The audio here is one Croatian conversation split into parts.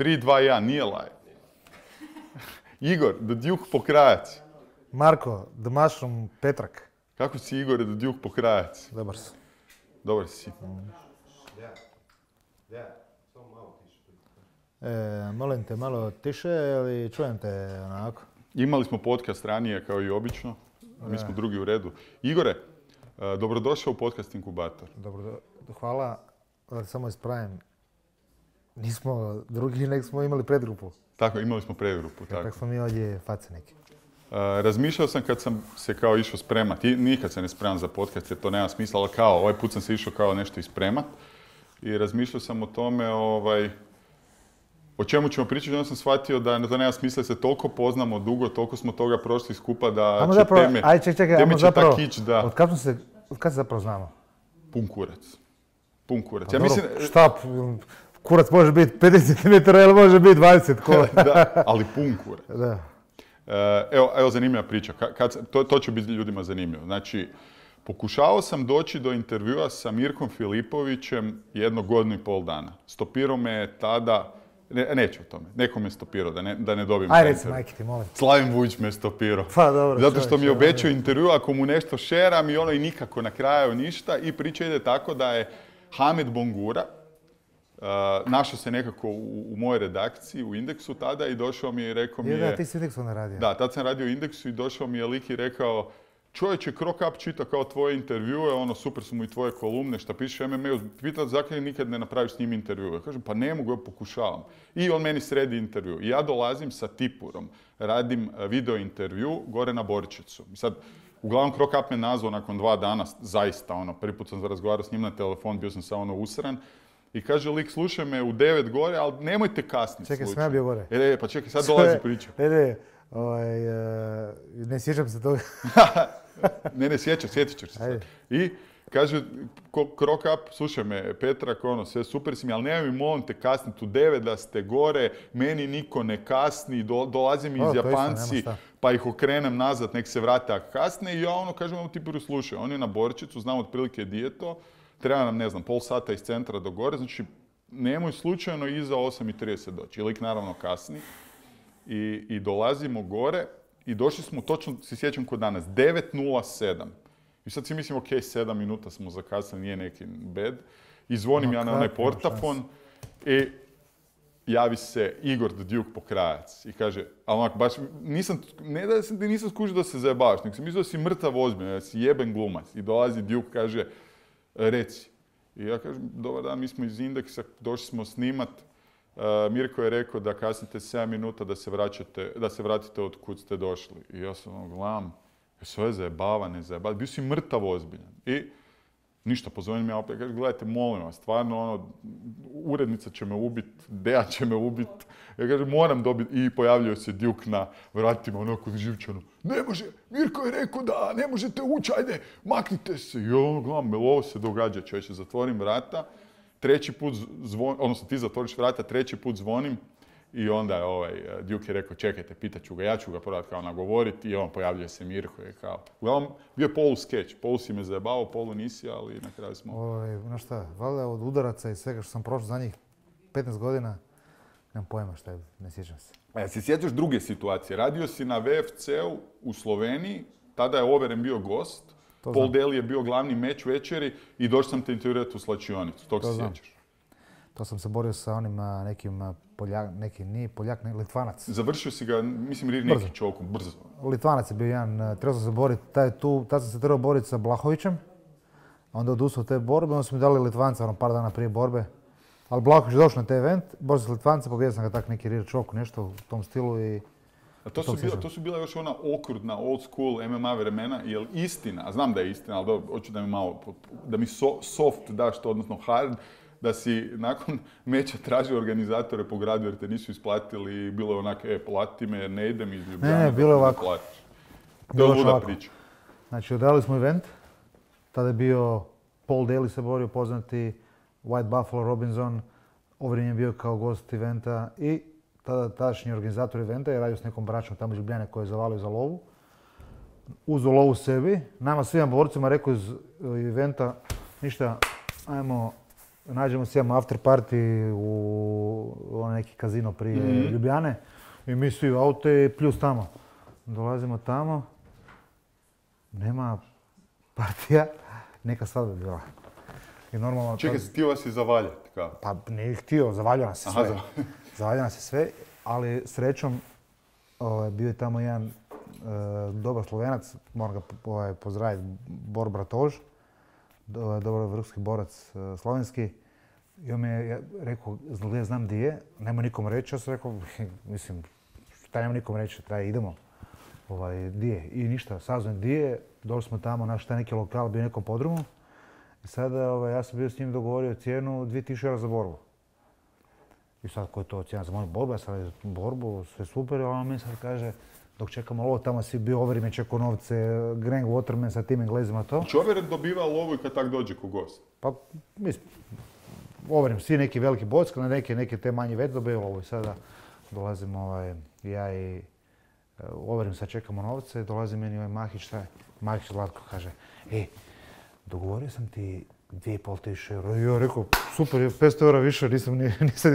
3, 2, 1, nije live. Igor, The Duke Pokrajac. Marko, The Mushroom Petrak. Kako si Igor, The Duke Pokrajac? Dobar si. Dobar si. Molim te malo tiše, ali čujem te onako. Imali smo podcast ranije, kao i obično. Mi smo drugi u redu. Igore, dobrodošao u podcast Inkubator. Dobro, hvala. Da samo ispravim. Nismo drugi, nego smo imali predgrupu. Tako, imali smo predgrupu. Tako smo mi ovdje face neki. Razmišljao sam kad sam se kao išao spremati, nikad se ne spremam za podcast jer to nema smisla, ali kao ovaj put sam se išao kao nešto ispremat i razmišljao sam o tome o čemu ćemo pričati, onda sam shvatio da to nema smisla, se toliko poznamo dugo, toliko smo toga prošli skupa da će teme, teme će tak ići da... Od kad se zapravo znamo? Pun kurac. Pun kurac. Pa ja mislim... Šta? Kurac može biti 50 cm ili može biti 20 kola. Da, ali pun kurac. Da. Evo zanimljiva priča. To će biti ljudima zanimljivo. Znači, pokušavao sam doći do intervjua sa Mirkom Filipovićem 1 godinu i pol dana. Stopirao me tada, neću o tome, neko me stopirao da ne dobijem. Aj reci, majke ti, molim. Slavim Vujić me stopirao. Pa dobro. Zato što mi je obećao intervju, ako mu nešto šeram i ono i nikako na kraju ništa. I priča ide tako da je Hamed Bongura našao se nekako u mojoj redakciji, u Indeksu tada i došao mi je i rekao mi je... Da, ti si u Indeksu onda radio. Da, tad sam radio u Indeksu i došao mi je lik i rekao čovječe, Krokap čita kao tvoje intervjue, ono super su mu i tvoje kolumne, šta pišeš MMA-u, pita zakaj nikad ne napraviš s njim intervju. Ja kažem, pa ne mogu, ja pokušavam. I on meni sredi intervju. I ja dolazim sa Tipurom, radim video intervju gore na Borčicu. I sad, uglavnom Krokap me nazvao nakon 2 dana, zaista, prvi put sam razgovarao s njim na telefon, bio sam samo usran. I kaže lik, slušaj me u 9 gore, ali nemojte kasniti. Čekaj, sam ja bio gore. Pa čekaj, sad dolazi priča. Ne sjećam se toga. ne, sjetit ću se sad. I kaže, Krokap, slušaj me, Petrak, sve super si mi, ali nemoj mi molim te kasniti u 9 da ste gore, meni niko ne kasni, dolaze mi iz Japanci, pa ih okrenem nazad, nek se vrate ako kasne. I ja kažem, Tipiru, slušaj, on je na Borčicu, znam otprilike gdje je to. Treba nam, ne znam, pol sata iz centra do gore, znači nemoj slučajno iza 8:30 doći. I lik naravno kasni i dolazimo gore i došli smo, točno se sjećam kod danas, 9:07. I sad si mislim, ok, 7 minuta smo zakasnili, nije neki bed. I zvonim ja na onaj portafon i javi se Igor The Duke Pokrajac. I kaže, ali onak, baš, nisam skužio da se zajebavaš, nego sam mislio da si mrtav ozbiljno, da si jeben glumac. I dolazi Duke, kaže, reci. I ja kažem, dobar dan, mi smo iz Indeksa, došli smo snimat. Mirko je rekao da kasnite 7 minuta da se vratite od kud ste došli. I ja sam gledam, sve je zajebava, ne zajebava. Bio si mrtav ozbiljan. I ništa, pozvonim ja opet, kaže, gledajte, molim vas, stvarno, urednica će me ubit, Deja će me ubit. Ja kažem, moram dobiti. I pojavljuje se Duke na vratima, onako živčano. Ne može, Mirko je rekao da ne možete ući, ajde, maknite se. I ja gledam, ovo se događa, čovječe, zatvorim vrata. 3. put zvonim, odnosno ti zatvoriš vrata, 3. put zvonim. I onda je Duke je rekao, čekajte, pitaću ga, ja ću ga probati kao nagovoriti. I on pojavljuje se Mirko i kao. Uglavnom, bio je polu skeč, polu si me zajebao, polu nisi, ali na kraju smo... Znaš šta, valjda od udaraca i svega što sam prošao za njih 15 godina, nemam pojma šta je, ne sjećam se. Se sjećaš druge situacije? Radio si na VFC-u u Sloveniji, tada je Overen bio gost, Paul Daly je bio glavni meč večeri i došao sam te intervjuirati u slačionicu. Tog se sjećaš? To sam se borio sa onim nekim nije Poljak, nego Litvanac. Završio si ga, mislim, neki čovjekom, brzo. Litvanac je bio jedan, trebao sam se boriti, tad sam se trebao boriti sa Blahovićem, onda odustao te borbe, onda su mi dali Litvanca par dana prije borbe. Ali Blahović je došao na taj event, borio sam s Litvanca, pobijedio sam ga tak neki rear choke, nešto u tom stilu i... A to su bila još ona okrutna, old school MMA vremena, jel istina, a znam da je istina, ali dobro, hoću da mi malo, da mi soft daš to, odnosno hard, da si nakon meča tražio organizatore po gradu jer te nisu isplatili i bilo je onak, plati me jer ne idem iz Ljubljana. Ne, bilo je ovako. To je luda priča. Znači, odradili smo event, tada je bio Paul Daly se borio, poznati, White Buffalo Robinson, Overen je bio kao gost eventa i tadašnji organizator eventa je radio s nekom braćom tamo iz Ljubljane koji je zavalio za lovu. Uzeo lovu sebi, nama svima borcima rekao iz eventa, ništa, ajmo nađemo se, imamo after party u neki kazino prije Ljubljane i mi svi u aute plus tamo. Dolazimo tamo, nema partija, neka svadba bila. I normalno... Čekaj, htio vas je zavaljati, kao? Pa nije htio, zavaljao nas je sve. Zavaljao nas je sve, ali srećom bio je tamo jedan dobar Slovenac, moram ga pozdraviti, Bor Bratož, dobar vrhunski borac slovenski. I on mi je rekao, znam di je, nema nikom reći. Ja sam rekao, mislim, šta nema nikom reći, idemo. Di je. I ništa, saznam di je, došli smo tamo, naš taj neki lokal, bio u nekom podrumu. I sada ja sam bio s njim dogovorio cijenu 2000 eura za borbu. I sad ko je to cijena za moju borbu, ja sam borbu, sve super, ali on mi sad kaže, dok čekamo lovo, tamo si bio Overeem je čekao novce, Greg Waterman sa tim Englezima to. Znači Overeem dobiva lovu i kad tak dođe ko gost? Pa, mislim, Overeem, svi neki veliki bocka, neke te manje već dobiju lovu i sada dolazimo ja i Overeem sad čekamo novce, dolazi meni Mahić, šta je? Mahić Zlatko kaže, dogovorio sam ti 2500 eura. I ja rekao, super, 500 eura više, nisam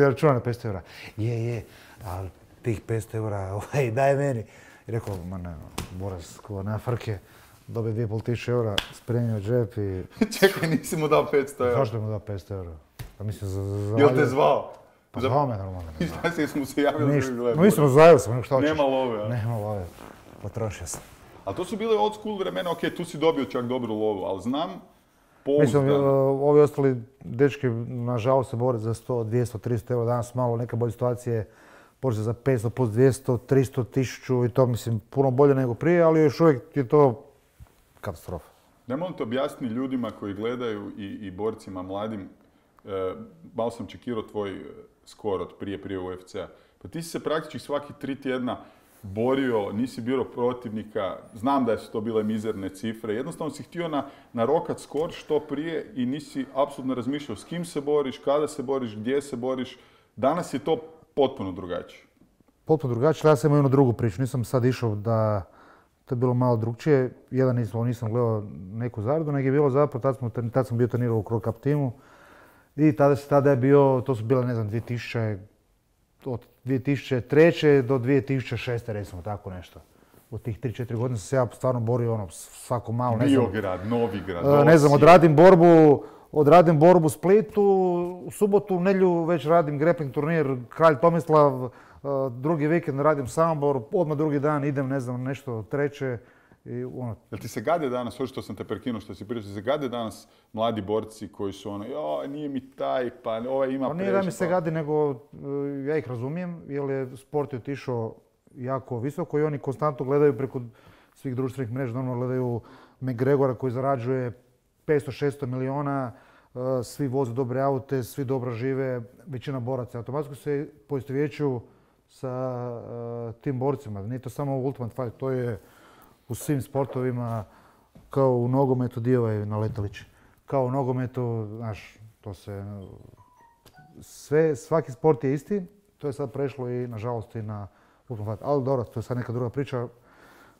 ja računao na 500 eura. Je, ali tih 500 eura, daj meni. I rekao, ma ne, Boras, ko na frke, dobije 2500 eura, spremio džep i... Čekaj, nisi mu dao 500 eura? Zašto mu dao 500 eura? Pa mislim, Jel te zvao? Pa zvao me normalno. I šta si smo se javili da gledali? Mislim, zvao sam, šta hoćeš? Nema love, a? Nema love, potrošio sam. Ali to su bile old school vremena, ok, tu si dobio čak dobru lovu, ali znam, mislim, ovi ostali dečki, nažalost, se bore za 100, 200, 300 eura. Danas malo neka bolje situacije, počne za 500 plus 200, 300, 1000 i to, mislim, puno bolje nego prije, ali još uvijek je to katastrofa. Ne molim te objasniti ljudima koji gledaju i borcima mladim, malo sam čekirao tvoj skor od prije UFC-a. Pa ti si se praktički svaki 3 tjedna borio, nisi bio protivnika, znam da su to bile mizerne cifre, jednostavno si htio narokat skor što prije i nisi apsolutno razmišljao s kim se boriš, kada se boriš, gdje se boriš. Danas je to potpuno drugačije. Potpuno drugačije, ja sam imao jednu drugu priču, nisam sad išao da to je bilo malo drugčije. Jedan nisam gledao neku zaradu, nego je bilo zapravo, tad sam bio trenirao u Crow Cup timu i tada je bio, to su bile, ne znam, od 2003. do 2006. recimo, tako nešto. U tih 3-4 godine sam se ja stvarno borio svako malo, ne znam. Biograd, Novigrad, ne znam, odradim borbu u Splitu, u subotu, u nedjelju već radim grappling turnir Kralj Tomislav, drugi vikend radim Samobor, odmah drugi dan idem, ne znam, nešto treće. Jel ti se gade danas, što sam te prekinuo, što si pričao, se gade danas mladi borci koji su nije mi taj, pa ovaj ima preš. Nije da mi se gade, nego ja ih razumijem, jer je sport je otišao jako visoko i oni konstantno gledaju preko svih društvenih mreža, normalno gledaju McGregora koji zarađuje 500-600 miliona, svi voze dobre aute, svi dobro žive, većina boraca automatski se poistovjećuju sa tim borcima. Nije to samo Ultimate Fight, to je u svim sportovima, kao u nogometu, dio je na letalići. Kao u nogometu, znaš, to se... Svaki sport je isti, to je sad prešlo i, nažalost, i na Ultimate Fight. Ali dobro, to je sad neka druga priča.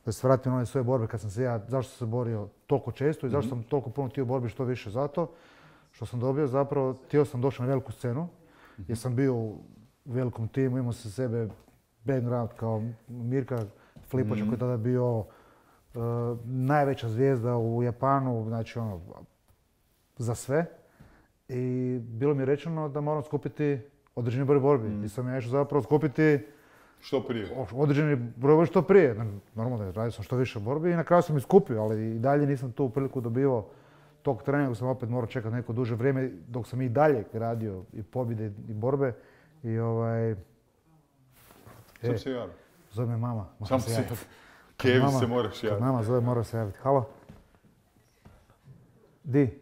Da se vratim na one svoje borbe kad sam se ja, zašto sam se borio toliko često i zašto sam toliko puno htio borbi što više zato. Što sam dobio zapravo, htio sam doći na veliku scenu, jer sam bio u velikom timu, imao sam sebe background kao Mirka Flipovića koji je tada bio najveća zvijezda u Japanu, znači za sve. I bilo mi je rečeno da moram skupiti određeni broj borbi. I sam ja išao zapravo skupiti što prije. Određeni broj borbi što prije. Normalno da radio sam što više borbi i na kraju sam ih skupio, ali i dalje nisam tu priliku dobivao tog treninga, sam opet morao čekati neko duže vrijeme dok sam i dalje radio i pobjede i borbe. I Sam se javio. Zove me mama. Sam se javio. Kevi se moraš javiti. Kad mama zove, mora se javiti. Halo? Di?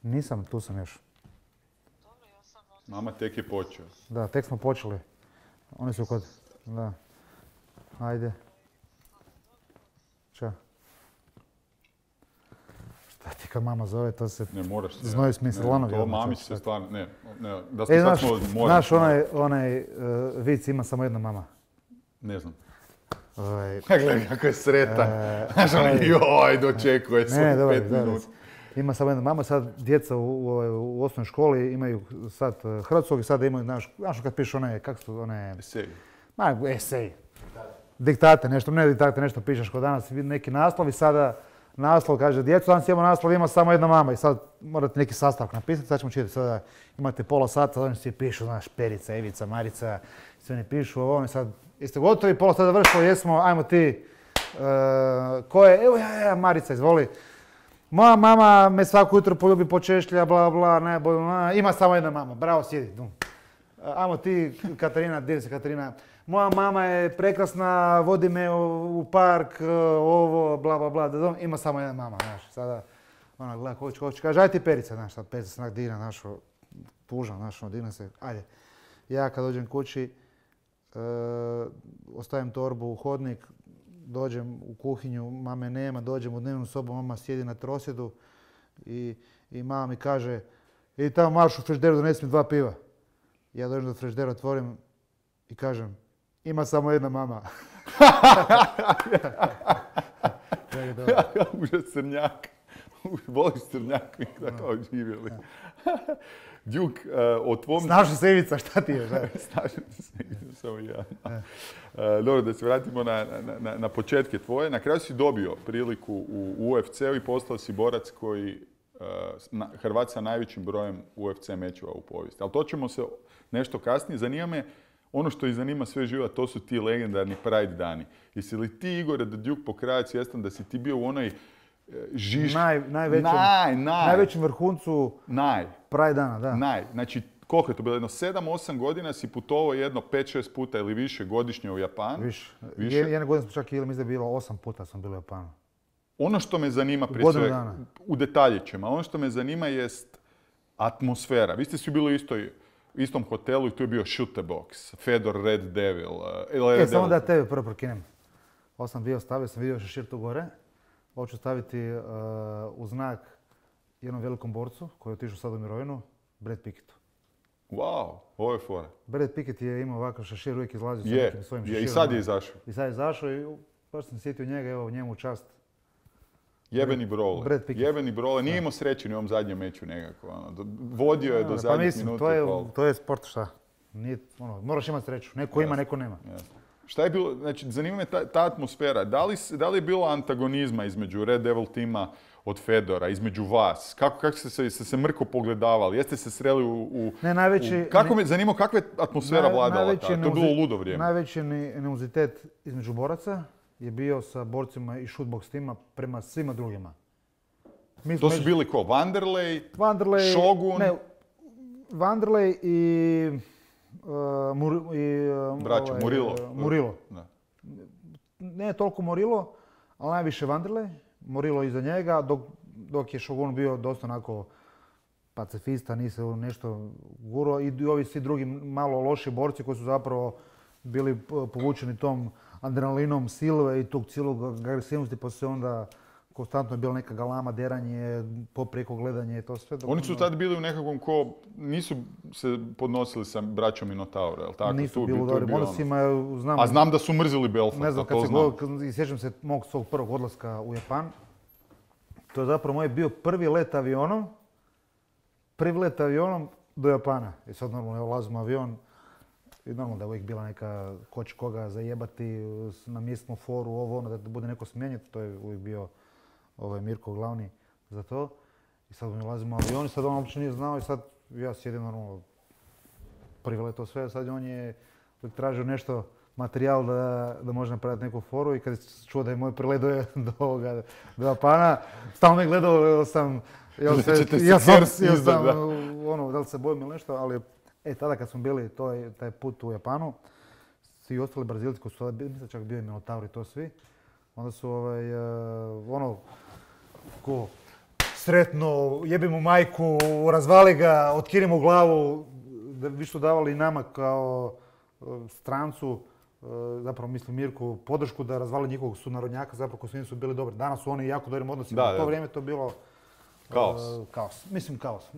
Nisam, tu sam još. Mama tek je počeo. Da, tek smo počeli. Oni su kod... Da. Ajde. Ćao. Šta ti kad mama zove, to se... Ne, moraš se. Znoju smisli lanovi. To mamić se stvarno... Ne, da smo sad smo... Znaš, onaj vic ima samo jedna mama. Ne znam. Gledaj kako je sretan. Znaš, dočekuje se 5 minuta. Ima samo jedna mama, sad djeca u osnovnoj školi imaju sad hrvatskog i sad imaju, znaš kad pišu one, kak su one... Esej. Esej. Diktate, nešto pišeš kod danas, neki naslov i sada naslov kaže djecu, danas imamo naslov, ima samo jedna mama i sad morate neki sastavak napisati, sad ćemo čitati, sada imate pola sata, oni svi pišu, znaš, Perica, Evica, Marica, sve ne pišu, ovo i sad jeste gotovi, pola sata završilo, jesmo, ajmo ti, ko je, evo ja, Marica, izvoli. Moja mama me svako jutro poljubi, počešlja, bla bla, ima samo jedna mama, bravo, sjedi. Ajmo ti, Katarina, gdje si Katarina? Moja mama je prekrasna, vodi me u park, ovo, bla bla bla, ima samo jedna mama, znaš, sada ona gleda koč, kaže, aj ti Perica, znaš, sad Perica se onak digna, znaš, tužna, znaš, digna se, ajde. Ja kad dođem kući, ostavim torbu u hodnik, dođem u kuhinju, mame nema, dođem u dnevnu sobu, mama sjedi na trosjedu i mama mi kaže, idi tamo marš u frižideru, donesi mi 2 piva. Ja dođem do frižidera, otvorim i kažem, ima samo jedna mama. Užas crnjak. Voliš crnjak, mi tako živjeli. Duke, o tvom... Snaši se Ivica, šta ti je? Snaši se Ivica, samo ja. Dobro, da se vratimo na početke tvoje. Na kraju si dobio priliku u UFC-u i postao si borac koji Hrvat sa najvećim brojem UFC mečeva u povijesti. Ali to ćemo se nešto kasnije. Zanima me, ono što ih zanima sve živa, to su ti legendarni Pride dani. Jesi li ti, Igore, da Duke pokrajac svjestan da si ti bio u onoj najvećem vrhuncu Pride dana, da. Znači, koliko je to bilo? Jedno 7-8 godina si putovao jedno 5-6 puta ili više godišnje u Japan? Više. Jedne godine smo čak mislim da je bilo 8 puta sam bilo u Japanu. Ono što me zanima prije svega, u detaljićima, ono što me zanima jest atmosfera. Vi ste svi bili u istom hotelu i tu je bio Shoot the Box, Fedor, Red Devil. Samo da tebe prvo prokinem. Ovo sam stavio sam vidio šešir tu gore. Ovo ću staviti u znak jednom velikom borcu koji je otišao sad u mirovinu, Brad Picketu. Wow, ovo je fora. Brad Pickett je imao ovakav šešir, uvijek izlazio sa nekim svojim šeširom. I sad je izašao. I sad je izašao i baš sam sjetio njega, evo njemu čast. Jebeni brole. Nije imao sreće ni u ovom zadnjem meču nekako. Vodio je do zadnjih minuta i pol. To je sport, šta? Moraš imati sreću. Neko ima, neko nema. Šta je bilo, znači zanima me ta atmosfera. Da li je bilo antagonizma između Red Devil tima od Fedora, između vas? Kako ste se mrko pogledavali? Jeste se sreli u... Ne, najveći... Zanima kakva je atmosfera vladala tada? To je bilo ludo vrijeme. Najveći animozitet između boraca je bio sa borcima i shootbox tima prema svima drugima. To su bili ko? Vanderlei, Shogun? Ne, Vanderlei i... Braća, Murillo. Ne toliko Murillo, ali najviše Vanderlei. Murillo iza njega, dok je Shogun bio dosta onako pacifista, nije se nešto guro. I ovi svi drugi malo loši borci koji su zapravo bili povučeni tom adrenalinom silve i tog cijelog agresivnosti, pa se onda konstantno je bila neka galama, deranje, poprijeko gledanje i to sve. Oni su tad bili u nekakvom nisu se podnosili sa braćom Minotauro, je li tako? Nisu bili u dobrim odnosima, znam... A znam da su mrzili Belfort, ne znam, sjećam se mog svog prvog odlaska u Japan. To je zapravo moj bio prvi let avionom do Japana. I sad normalno ulazim u avion i normalno da je uvijek bila neka ko će koga zajebati na mjesnu foru, ovo ono, da bude neko smijenjati. To je uvijek bio Mirko glavni za to. I sad mi ulazimo u avion i sad on uopće nije znao i sad ja sjedim normalno prvi let to sve. Sad on je tražio nešto, materijal da može napraviti neku foru i kad je čuo da je moj prilet do Japana, stalno me gledao, sam da li se bojim ili nešto, ali tada kad smo bili taj put u Japanu, svi ostali Brazilci koji su mislim čak bio i Minotaur i to svi, onda su sretno, jebi mu majku, razvali ga, otkini mu glavu, da vi su davali nama kao strancu, zapravo mislim Mirku, podršku da razvali njihovog sunarodnjaka, zapravo koji su nisu bili dobri. Danas su oni jako dobrim odnosima, u to vrijeme to bilo kaos. Mislim kaos.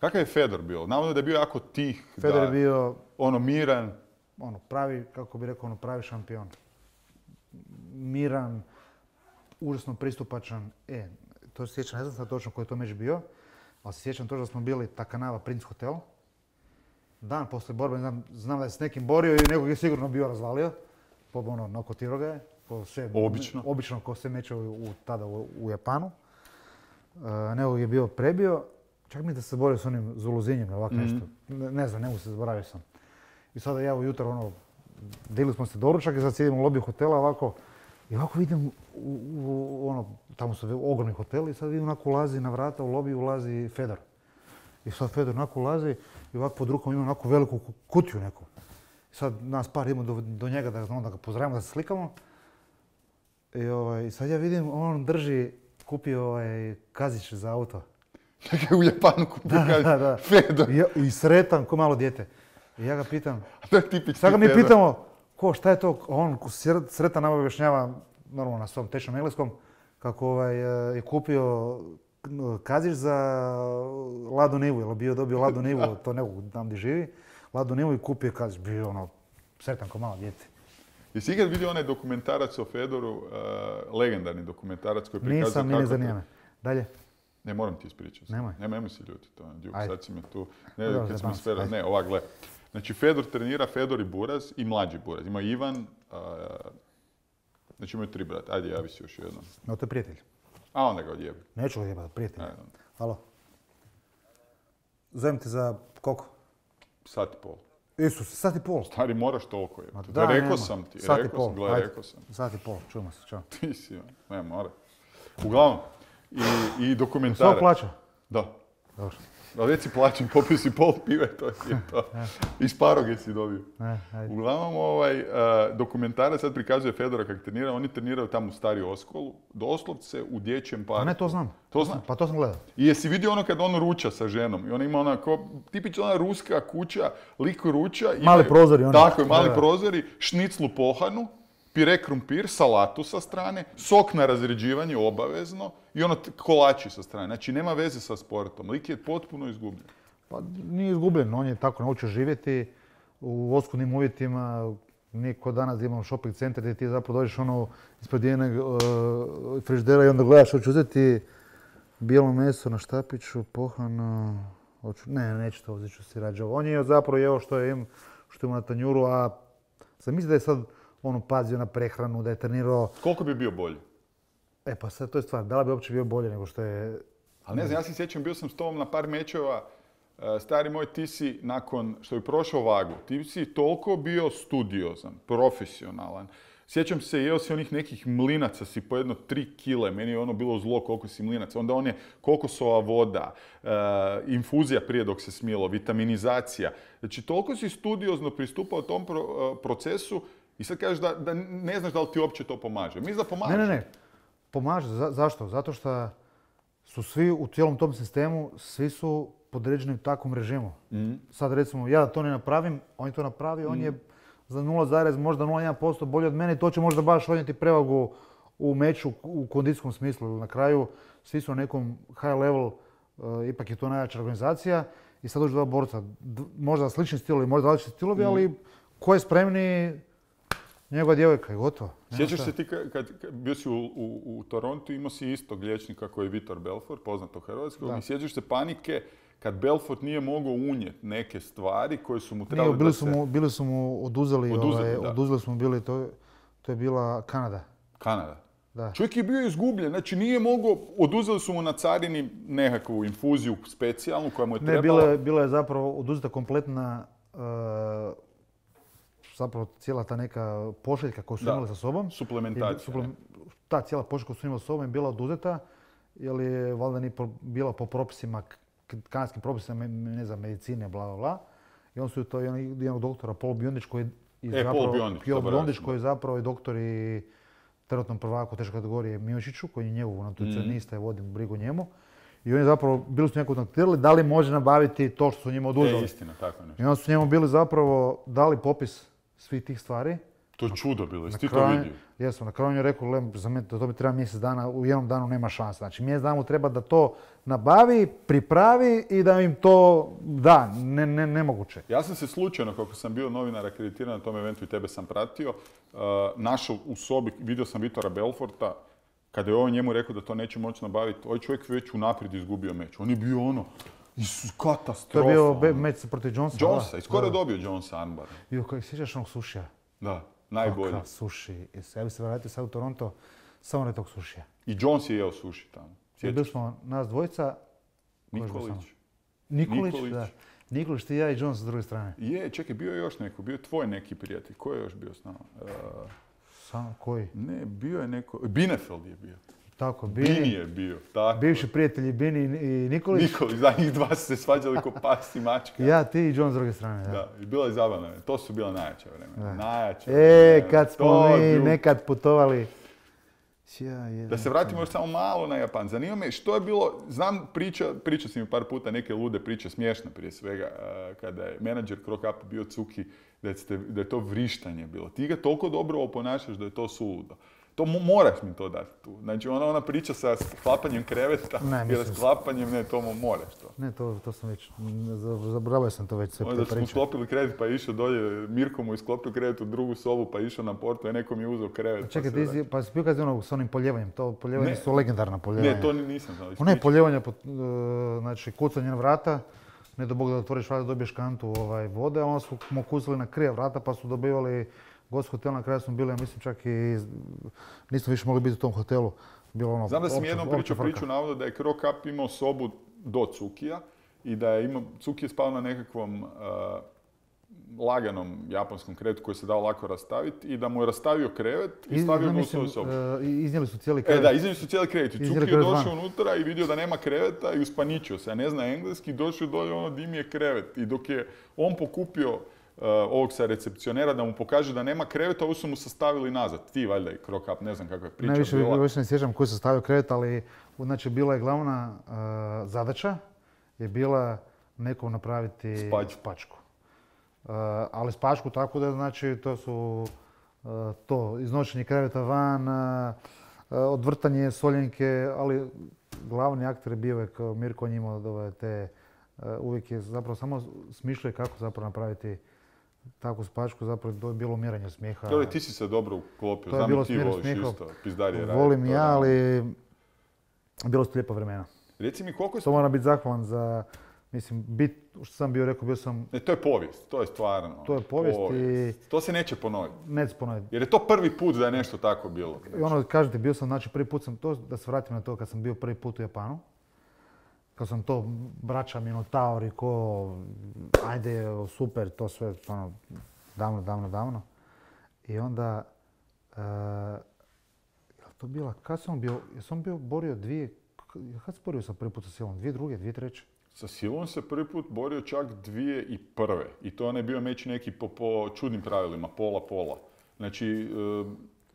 Kakav je Fedor bio? Navodno da je bio jako tih, Fedor je bio miran. Pravi, kako bi rekao, pravi šampion. Miran, užasno pristupačan. to se sjećam, ne znam sad točno koji je to meč bio, ali se sjećam to da smo bili Takanava Prince Hotel. Dan poslije borbe, znam da je s nekim borio i nekog je sigurno bio razvalio. Nokotirao ga je. Obično ko se meče tada u Japanu. Nekog je bio prebio. Čak mi da se borio s onim Zuluzinjem, ovako nešto. Ne znam, ne mogu se zaboravio sam. I sada ja ujutro, delili smo se doručak i sad sjedimo u lobiju hotela ovako. I ovako vidim, tamo su ogromni hoteli i sad vidim onako ulazi na vrata, u lobiju ulazi Fedor. I sad Fedor onako ulazi i ovako pod rukom ima onako veliku kutiju neku. I sad nas par idemo do njega da ga pozdravimo, da se slikamo. I sad ja vidim, on drži, kupio kazić za auto. U Japanu kupio kazić, Fedor. I sretan ko malo dijete. I ja ga pitam, sad ga mi pitamo, šta je to? On sretan nam objašnjava, normalno na svom tečnom engleskom, kako je kupio kazić za Ladu Nivu, jer bio dobio Ladu Nivu, to nekog tam gdje živi, Ladu Nivu i kupio kazić, bio sretan ko malo dijete. Jesi ikad vidio onaj dokumentarac o Fedoru, legendarni dokumentarac koji prikazuje kako... Nisam, ne zanima me. Dalje? Ne, moram ti ispričati. Nemoj si ljuti to. Sad si me tu... Ne, ovak, gle. Znači, Fedor trenira, Fedor i Buraz i mlađi Buraz. Ima Ivan, znači imaju 3 brata. Ajde, javi si još jednom. No, to je prijatelj. A onda ga odjebi. Neću ga odjebati, prijatelj. Halo. Zovem te za koliko? Sat i pol. Isus, sat i pol. Stari, moraš toliko je. Rekao sam ti. Rekao sam. Sat i pol, čujemo se, čao. Ti si, ne mora. Uglavnom, i dokumentarac. Sve plaća? Da. Dobro. Da već si plaćen, popio si pol pive, to je to. Iz paroge si dobio. Uglavnom, dokumentarac sad prikazuje Fedora kako trenira. Oni treniraju tamo u Stari Oskolu, doslovce u dječjem parku. A ne, to znam. To znam? Pa to sam gledao. I jesi vidio ono kad on ruča sa ženom? I ona ima onako, tipična ona ruska kuća, lik ruča. Mali prozori. Tako je, mali prozori, šniclu pohanu, pire krumpir, salatu sa strane, sok na razređivanje obavezno i ono kolači sa strane. Znači nema veze sa sportom. Lik je potpuno izgubljen. Pa nije izgubljen, on je tako naučio živjeti u oskudnim uvjetima. Nije kod danas da imamo shopping centar gdje ti zapravo dođeš ispred jednog frižidera i onda gledaš hoću uzeti bijelo meso na štapiću, pohano, neću to uzeti, ću si rađe ovo. On je zapravo jeo što ima na tanjuru, a sam mislim da je sad pazio na prehranu, da je trenirao... Koliko bi bio bolji? Pa sad to je stvar, da li bi uopće bio bolje nego što je... Ali ne znam, ja se sjećam, bio sam s tobom na par mečeva. Stari moj, ti si nakon što je prošao vagu, ti si toliko bio studiozan, profesionalan. Sjećam se, jeo si onih nekih mlinaca, si po jedno 3 kile, meni je ono bilo zlo koliko si mlinaca. Onda on je kokosova voda, infuzija prije dok se smilo, vitaminizacija. Znači, toliko si studiozno pristupao tom procesu i sad kažeš da ne znaš da li ti uopće to pomaže. Mislim da pomaže. Ne. Pomaže. Zašto? Zato što su svi u cijelom tom sistemu, svi su podređeni takvom režimu. Sad recimo, ja da to ne napravim, on je to napravi, on je za 0,01% bolji od mene i to će možda baš odnijeti prevagu u meču u kondicijskom smislu. Na kraju svi su na nekom high level, ipak je to najjača organizacija i sad dođu dva borca. Možda slični stilovi, možda različiti stilovi, ali ko je spremniji, njegova djevojka je gotovo. Sjećaš se ti kad bio si u Torontu, imao si istog liječnika koji je Vitor Belfort, poznat u Hrvatskoj, i sjećaš se panike kad Belfort nije mogao unijeti neke stvari koje su mu trebali bili su mu oduzeli smo bili, to je bila Kanada. Kanada? Da. Čovjek je bio izgubljen, znači nije mogao, oduzeli su mu na carini nekakvu infuziju specijalnu koja mu je trebala. Ne, bila je zapravo oduzeta kompletna, zapravo cijela ta neka pošiljka koju su imali sa sobom. Suplementacija. Ta cijela pošiljka koju su imali sa sobom je bila oduzeta, jer je valjda nije bila po propisima, kanadskim propisima, ne znam, medicine, bla, bla, bla. I on su to jednog doktora, Paul Biondić, koji je zapravo i doktor i trenutnom prvaku teške kategorije Mijošiću, koji je njegov nutricionista i vodi brigu njemu. I oni zapravo bili su njega kontaktirali da li može nabaviti to što su njima oduzeli. Istina, tako nešto. I onda su njemu bili zapravo dali popis svih tih stvari. To je čudo bilo, jesi ti to vidio? Jesmo, na kraju on je rekao, za mene to bi treba mjesec dana, u jednom danu nema šanse. Znači mjesec dana mu treba da to nabavi, pripravi i da im to da, nemoguće. Ja sam se slučajno, kako sam bio novinar akreditiran na tom eventu i tebe sam pratio, našao u sobi, vidio sam Vitora Belforta, Kada je on njemu rekao da to neće moći nabaviti, ovaj čovjek već unaprijed izgubio meč. On je bio ono, katastrofa. To je bio meč protiv Jonesa. Jonesa, i skoro je dobio Jonesa armbar. Kako sjećaš onog sušija? Da, najbolji. Kakav suši. Ja bi se vratio sad u Toronto, samo ne tog sušija. I Jones je jeo suši tamo. Bili smo nas dvojica. Nikolić, da. Nikolić, ti, ja i Jones s druge strane. Čekaj, bio je još neko, bio je tvoj neki prijatelj. Ko je još bio s nama? Koji? Ne, bio je neko, Binefeld je bio. Tako, Bini je bio, tako. Bivši prijatelji Bini i Nikolić. Nikolić, da, njih dva su se svađali ko pas i mačka. Ja, ti i Jones s druge strane, da. Da, i bilo je zabavno. To su bila najjača vremena. Najjača vremena. Kad smo mi nekad putovali. Da se vratimo još samo malo na Japan. Zanima me što je bilo, znam pričao si mi par puta neke lude priče, smiješne prije svega, kada je menadžer Cro Cup bio Cuki, da je to vrištanje bilo. Ti ga toliko dobro oponašaš da je to suludo. To moraš mi to dati tu. Znači ona priča sa sklapanjem kreveta i rasklapanjem, ne, to moraš to. Ne, to sam već, zaboravio sam to već sve priča. Da smo sklopili krevet pa je išao dolje, Mirko mu isklopio krevet u drugu sobu pa je išao na portu i nekom je uzeo krevet. Čekaj, pa si bio kad je ono s onim poljevanjem, to poljevanje su legendarna poljevanja. Ne, to nisam znao. Ono je poljevanje, znači kucanje na vrata, ne do Bog da otvoriš vrata dobiješ kantu vode, a onda su mu kucali na krije vrata pa su dobivali gost hotel, na kraju smo bili, ja mislim čak i nismo više mogli biti u tom hotelu. Znam da sam jednom priču navoda da je Cro Cup imao sobu do Cukija i da je Cuki je spao na nekakvom laganom japanskom krevetu koji se dao lako rastaviti i da mu je rastavio krevet i stavio ga u svoju sobu. Iznijeli su cijeli krevet. Da, iznijeli su cijeli krevet. I Cuki je došao unutra i vidio da nema kreveta i uspaničio se. Ja ne zna engleski, došao dolje ono di mi je krevet. I dok je on pokupio ovog sa recepcionera da mu pokaže da nema kreveta, ovo su mu sastavili nazad. Ti valjda i Cro Cup, ne znam kakva je priča bila. Najviše ne sjećam koji je sastavio krevet, ali znači bila je glavna zadaća je bila nekom napraviti spačku. Ali spačku tako da znači to su iznošenje kreveta van, odvrtanje soljenke, ali glavni aktor je bio kao Mirko njima te uvijek je zapravo samo smišljao kako zapravo napraviti takvu spačku, zapravo to je bilo umiranje smijeha. Ti si se dobro uklopio, znam i ti voliš isto, pizdarije raditi. Volim ja, ali bilo su lijepa vremena. Reci mi koliko si... To moram biti zahvalan za, mislim, što sam bio rekao, bio sam... Ne, to je povijest, to je stvarno. To je povijest i... To se neće ponoviti. Neće ponoviti. Jer je to prvi put da je nešto tako bilo. I ono, kažete, bio sam, znači prvi put sam to, da se vratim na to kad sam bio prvi put u Japanu. Kad sam to, braća Minotauri, ajde, super, to sve, ono, davno. I onda, to bila, kad sam bio, jesam bio borio kad sam borio sa prvi put sa Silom? 2002, 2003? Sa Silom se prvi put borio čak 2001. I to je bio meč neki po čudnim pravilima, pola. Znači,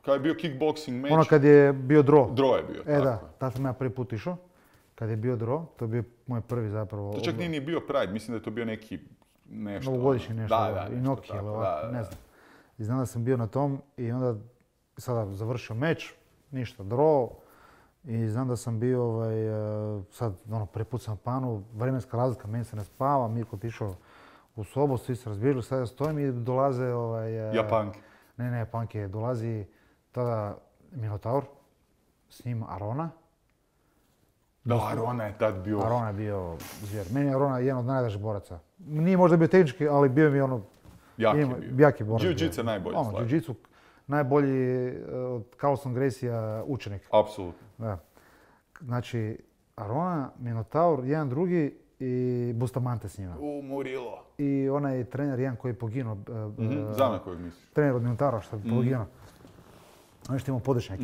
kad je bio kickboxing meč... Ono kad je bio draw. Draw je bio, tako. Da, tad sam ja prvi put išao. Kad je bio draw, to je bio moj prvi zapravo... To čak nije ni bio Pride, mislim da je to bio neki nešto... Novogodišnji nešto, Inoki ili ovako, ne znam. I znam da sam bio na tom i onda sada završio meč, ništa, draw. I znam da sam bio, sad prvi put sam na Japanu, vremenska razlika, meni se ne spava, Mirko otišao u sobu, svi se razbježili, sad ja stojim i dolaze... Japanke. Ne, Japanke, dolazi tada Minotaur, s njim Arona. Da, Arona je tad bio... Arona je bio zvijer. Meni je Arona jedan od najdražih boraca. Nije možda bio tehnički, ali bio mi ono... Jaki borac. Jiu-jitsu je najbolji stvar. Jiu-jitsu najbolji od Carlson Gracie učenik. Apsolutno. Da. Znači, Arona, Minotaur, jedan drugi i Bustamante s njima. Murilo. I onaj trener jedan koji je poginuo. Znam na kojeg misliš. Trener od Minotaura što je poginuo. On što imao podečnjak.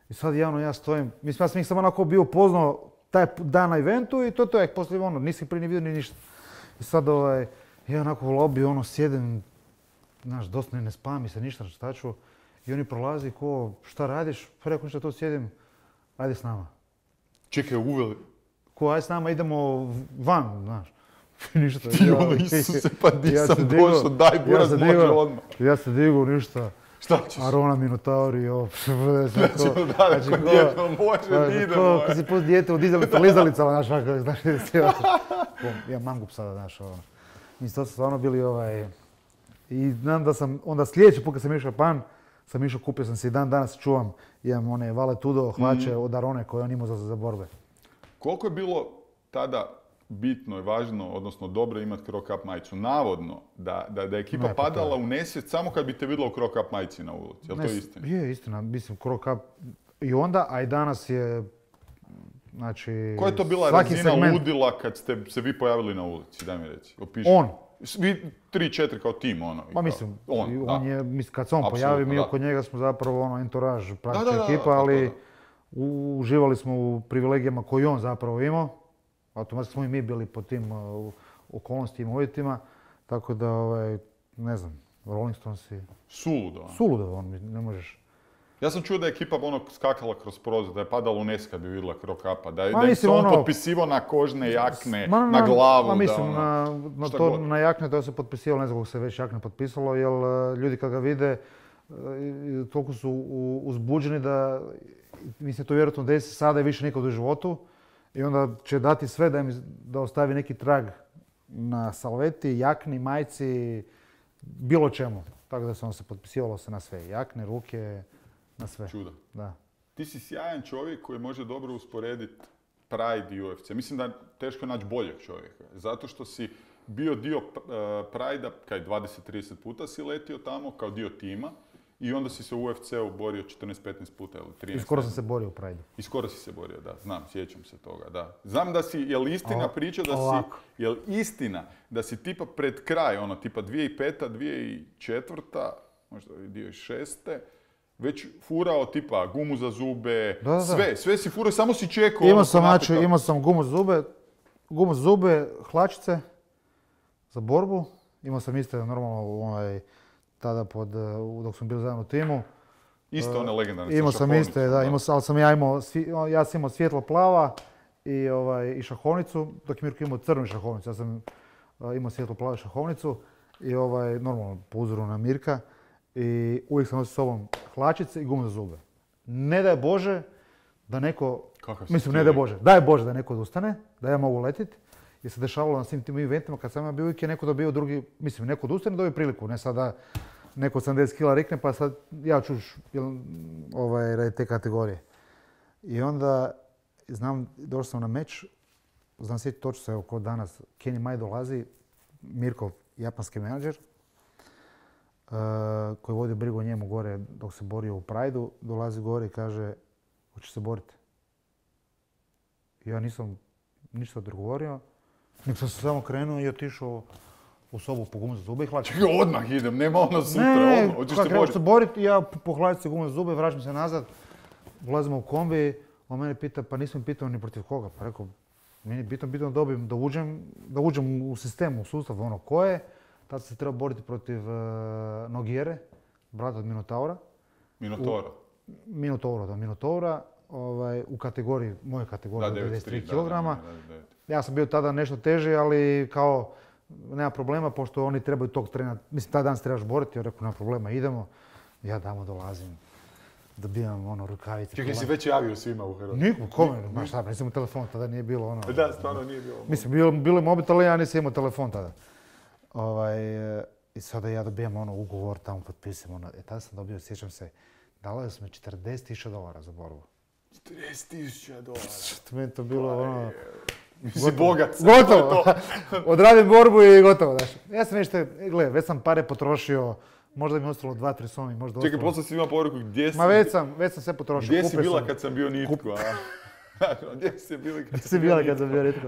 I sad ja stojim, mislim ja sam ih samo onako bio upoznao taj dan na eventu i to je, poslije nisi prije ni vidio ni ništa. I sad ja onako u lobby sjedim, znaš, dosta ne spavam mi se ništa, šta ću. I oni prolazi šta radiš? Pa rekao ništa, to sjedim, ajde s nama. Čekaj, uveli. Ajde s nama, idemo van, znaš. Ništa. Isuse, pa nisam došao, daj buraz može odmah. Ja se digu, ništa. Šta ćeš? Arona, Minotauri, Znači, ko djeto može, idemo. Kad si pust dijete u lizalicama, znaš, ja mangup sada, znaš, Mislim, to su stvarno bili I znam da sam, onda sljedeći put kad sam išao u Japan, sam išao, kupio sam si dan danas čuvam, imam one Valetudo hlače od Arone koje on imao za borbe. Koliko je bilo tada bitno i važno, odnosno dobro imati Cro Cup majicu? Navodno, da je ekipa padala u nesvijest samo kad bi te vidjela u Cro Cup majici na ulici. Je li to istina? Je istina, mislim Cro Cup i onda, a i danas je, znači... Koja je to bila razina ludila kad ste se vi pojavili na ulici, daj mi reci, opiši. On. Vi 3-4 kao tim, ono. Pa mislim, on je, kad se on pojavi, mi oko njega smo zapravo ono entourage, prateća ekipa, ali uživali smo u privilegijama koje on zapravo imao. Automatski smo i mi bili po tim okolnostima i uvjetima, tako da, ne znam, Rolling Stonesi... Suludo. Suludo, ne možeš... Ja sam čuo da je ekipa skakala kroz prozor, da je padala u nes kad bi vidjela Cro Cupa, da je se on potpisivao na kožne jakne, na glavu. Mislim, na jakne to se potpisivalo, ne znam kako se već jakne potpisalo, jer ljudi kad ga vide toliko su uzbuđeni da, mislim, to vjerojatno desi sada i više nikad u životu i onda će dati sve da ostavi neki trag na salveti, jakni, majci, bilo čemu. Tako da se on se potpisivalo na sve, jakne, ruke, na sve. Čudo. Da. Ti si sjajan čovjek koji može dobro usporediti Pride i UFC. Mislim da je teško naći boljeg čovjeka. Zato što si bio dio Pride-a, kaj 20-30 puta si letio tamo kao dio tima i onda si se u UFC-u borio 14-15 puta ili 13. I skoro sam se borio u Pride-u. I skoro si se borio, da. Znam, sjećam se toga, da. Znam da si, je li istina priča da si, je li istina da si tipa pred kraj, ono tipa 2005. 2004. možda 2006. već furao tipa gumu za zube, sve si furao, samo si čekao. Imao sam gumu za zube, hlačice za borbu. Imao sam isto normalno tada dok smo bili zajedno u timu. Isto one legendarne sa šahovnicom. Ja sam imao svjetlo plava i šahovnicu, dok je Mirko imao crnu šahovnicu. Ja sam imao svjetlo plavu šahovnicu i normalno po uzoru na Mirka. I uvijek sam nosio s sobom hlačice i gumu za zube. Ne daj Bože da neko, daj Bože da neko odustane, da ja mogu letiti. Jer se dešavalo na svim tim eventima kad sam ja bio, uvijek je neko dobio drugi, mislim neko odustane dobio priliku, ne sada neko 80 kila rekne pa sad ja ću radi te kategorije. I onda znam, došao sam na meč, znam sjetiti točno se evo kod danas, Kenny Mai dolazi, Mirkov japanski menadžer, koji vodi brigu o njemu gore dok se borio u Pride-u, dolazi gore i kaže, hoćeš se boriti? Ja nisam ništa odgovorio, nek sam se samo krenuo i otišao u sobu po gumu za zube i hlačice. Čekaj, odmah idem, nema ono sutra, hoćeš se boriti? Se boriti, ja po hlačice gumu za zube, vraćam se nazad, ulazimo u kombi, on mene pita, pa nisam pitao ni protiv koga, pa rekao, meni je bitno da uđem u sistem, u sustav, ono ko je. Tad se treba boriti protiv Nogueire, brata od Minotaura. Minotaura, u kategoriji, moje kategorije, 93 kg. Ja sam bio tada nešto teži, ali kao nema problema, pošto oni trebaju tog trena, mislim, taj dan se trebaš boriti, ja rekao, nema problema, idemo. Ja tamo dolazim, dobijam rukavice. Čekaj, si već javio svima u Hrvatskoj? Niko, kome, znaš šta, nisam imao telefon, tada nije bilo Da, stvarno nije bilo. Mislim, bilo je mobitel, ali ja nisam imao telefon tada. I sada ja dobijam ugovor, tamo potpisam. Tada sam dobio, sjećam se, dali su mi $40,000 za borbu. $40,000? Meni to bilo Si bogat. Gotovo! Odradim borbu i gotovo. Ja sam već sam pare potrošio, možda mi je ostalo 2-3 somi, možda ostalo. Čekaj, poslije si imao poruku, gdje si? Ma već sam sve potrošio. Gdje si bila kad sam bio nitko? Gdje si bila kad sam bio nitko?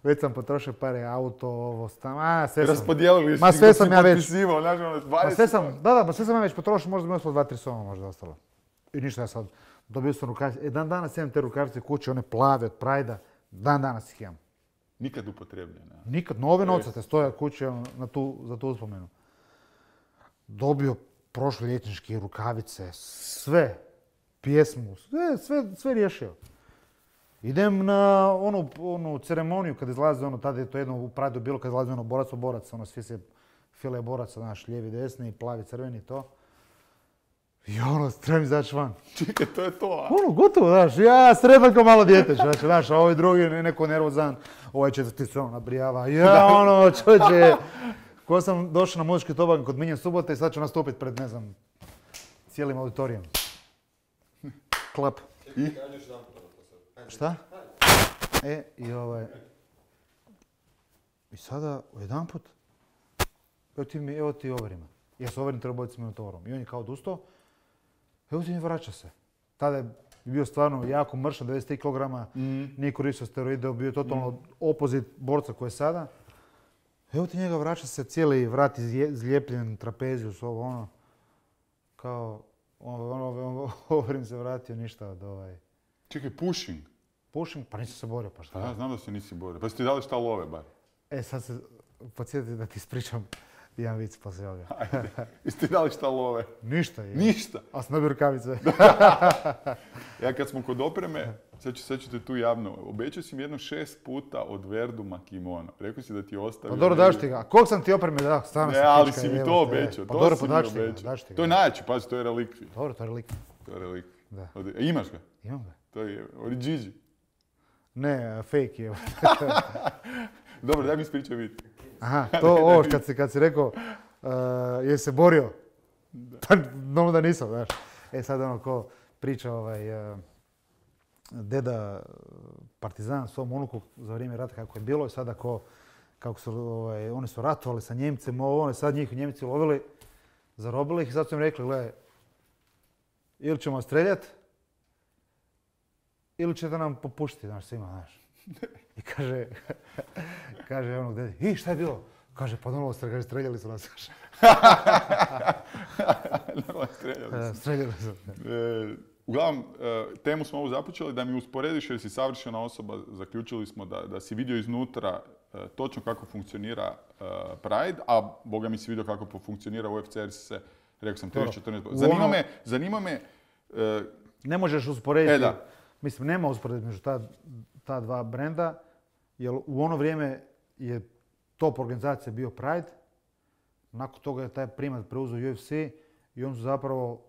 Već sam potrošio pare, auto, ovo, stan, sve sam. Raspodijelili si, sve sam ja već potpisivao, znaš, 20. Sve sam ja već potrošio, možda mi je ostalo 2-3 soma, možda ostalo. I ništa, ja sad dobio sam rukavice. Dan danas imam te rukavice kuće, one plave od Pride-a, dan danas ih imam. Nikad upotrebljene? Nikad, nove nocate stoje kuće za tu uspomenu. Dobio prošloljetničke rukavice, sve, pjesmu, sve riješio. Idem na onu ceremoniju kad izlazi tada je to jedno u Pride-u bilo kad izlazi borac, svi se file boraca, znaš, lijevi, desni, plavi, crveni, to. I trebam izaći van. Čekaj, to je to, a? Gotovo, znaš, ja sretan kao malo dijete, znaš, a ovaj drugi neko nervozan, ovaj četvrti se nabrijava, čovječe. Ko sam došao na muzički tobanj kod Minje Subote i sad ću nastupiti pred, ne znam, cijelim auditorijom. Klap. I? Šta? I sada, jedanput, evo ti overima. Ja se overim treba s Minotaurom. I on je kao odustao. Evo ti mi vraća se. Tada je bio stvarno jako mršan, 93 kg, nije koristio steroide, bio je totalno opozit borca koji je sada. Evo ti njega vraća se, cijeli vrat izlijepljen, trapeziju, ovo ono. Kao, overim se vratio, ništa od Čekaj, pushing? Pushing? Pa nisam se borio, pa šta? Ja znam da se nisi borio. Pa si ti dali šta love bar? Sad se podsjetiti da ti ispričam jedan vic poslije ovoga. Ajde, jesi ti dali šta love? Ništa je. Ništa? A sam dobio rukavice. Ja kad smo kod opreme, sad ću te tu javno, obećao si mi jedno 6 puta od Verduma kimono. Rekao si da ti je ostavio... Pa dobro, daš ti ga. Koliko sam ti opreme dao? Stvarno ne, ali si mi to obećao. Pa dobro, pa daš ti ga. To je najjači, pazi, to je relikvi. Dobro, to je relikvi. To je relikvi. Da. Imaš ga? Imam ga. To je Origigi. Ne, fake je. Dobro, daj mi ispričaj vid. Aha, to ovo kad si rekao, je se borio. Pa, normalno da nisam, znaš. Sad ono ko priča deda partizan svom unuku za vrijeme rata kako je bilo i sada kako su, oni su ratovali sa Njemcima, oni sad njih Njemci lovili, zarobili ih i sad su im rekli, gledaj, ili ćemo streljati, ili ćete nam popuštiti, znaš, svima, znaš. I kaže onog dedi, šta je bilo? Kaže, pa normalno streljali su nas. Normalno streljali su. Streljali su. Uglavnom, temu smo ovu započeli da mi usporediš jer si savršena osoba. Zaključili smo da si vidio iznutra točno kako funkcionira Pride, a boga mi si vidio kako funkcionira UFC jer si se, rekao sam, 30-14. Zanima me... Ne možeš usporediti, mislim, nema usporediti među ta dva brenda, jer u ono vrijeme je top organizacija bio Pride, nakon toga je taj primat preuzeo UFC i oni su zapravo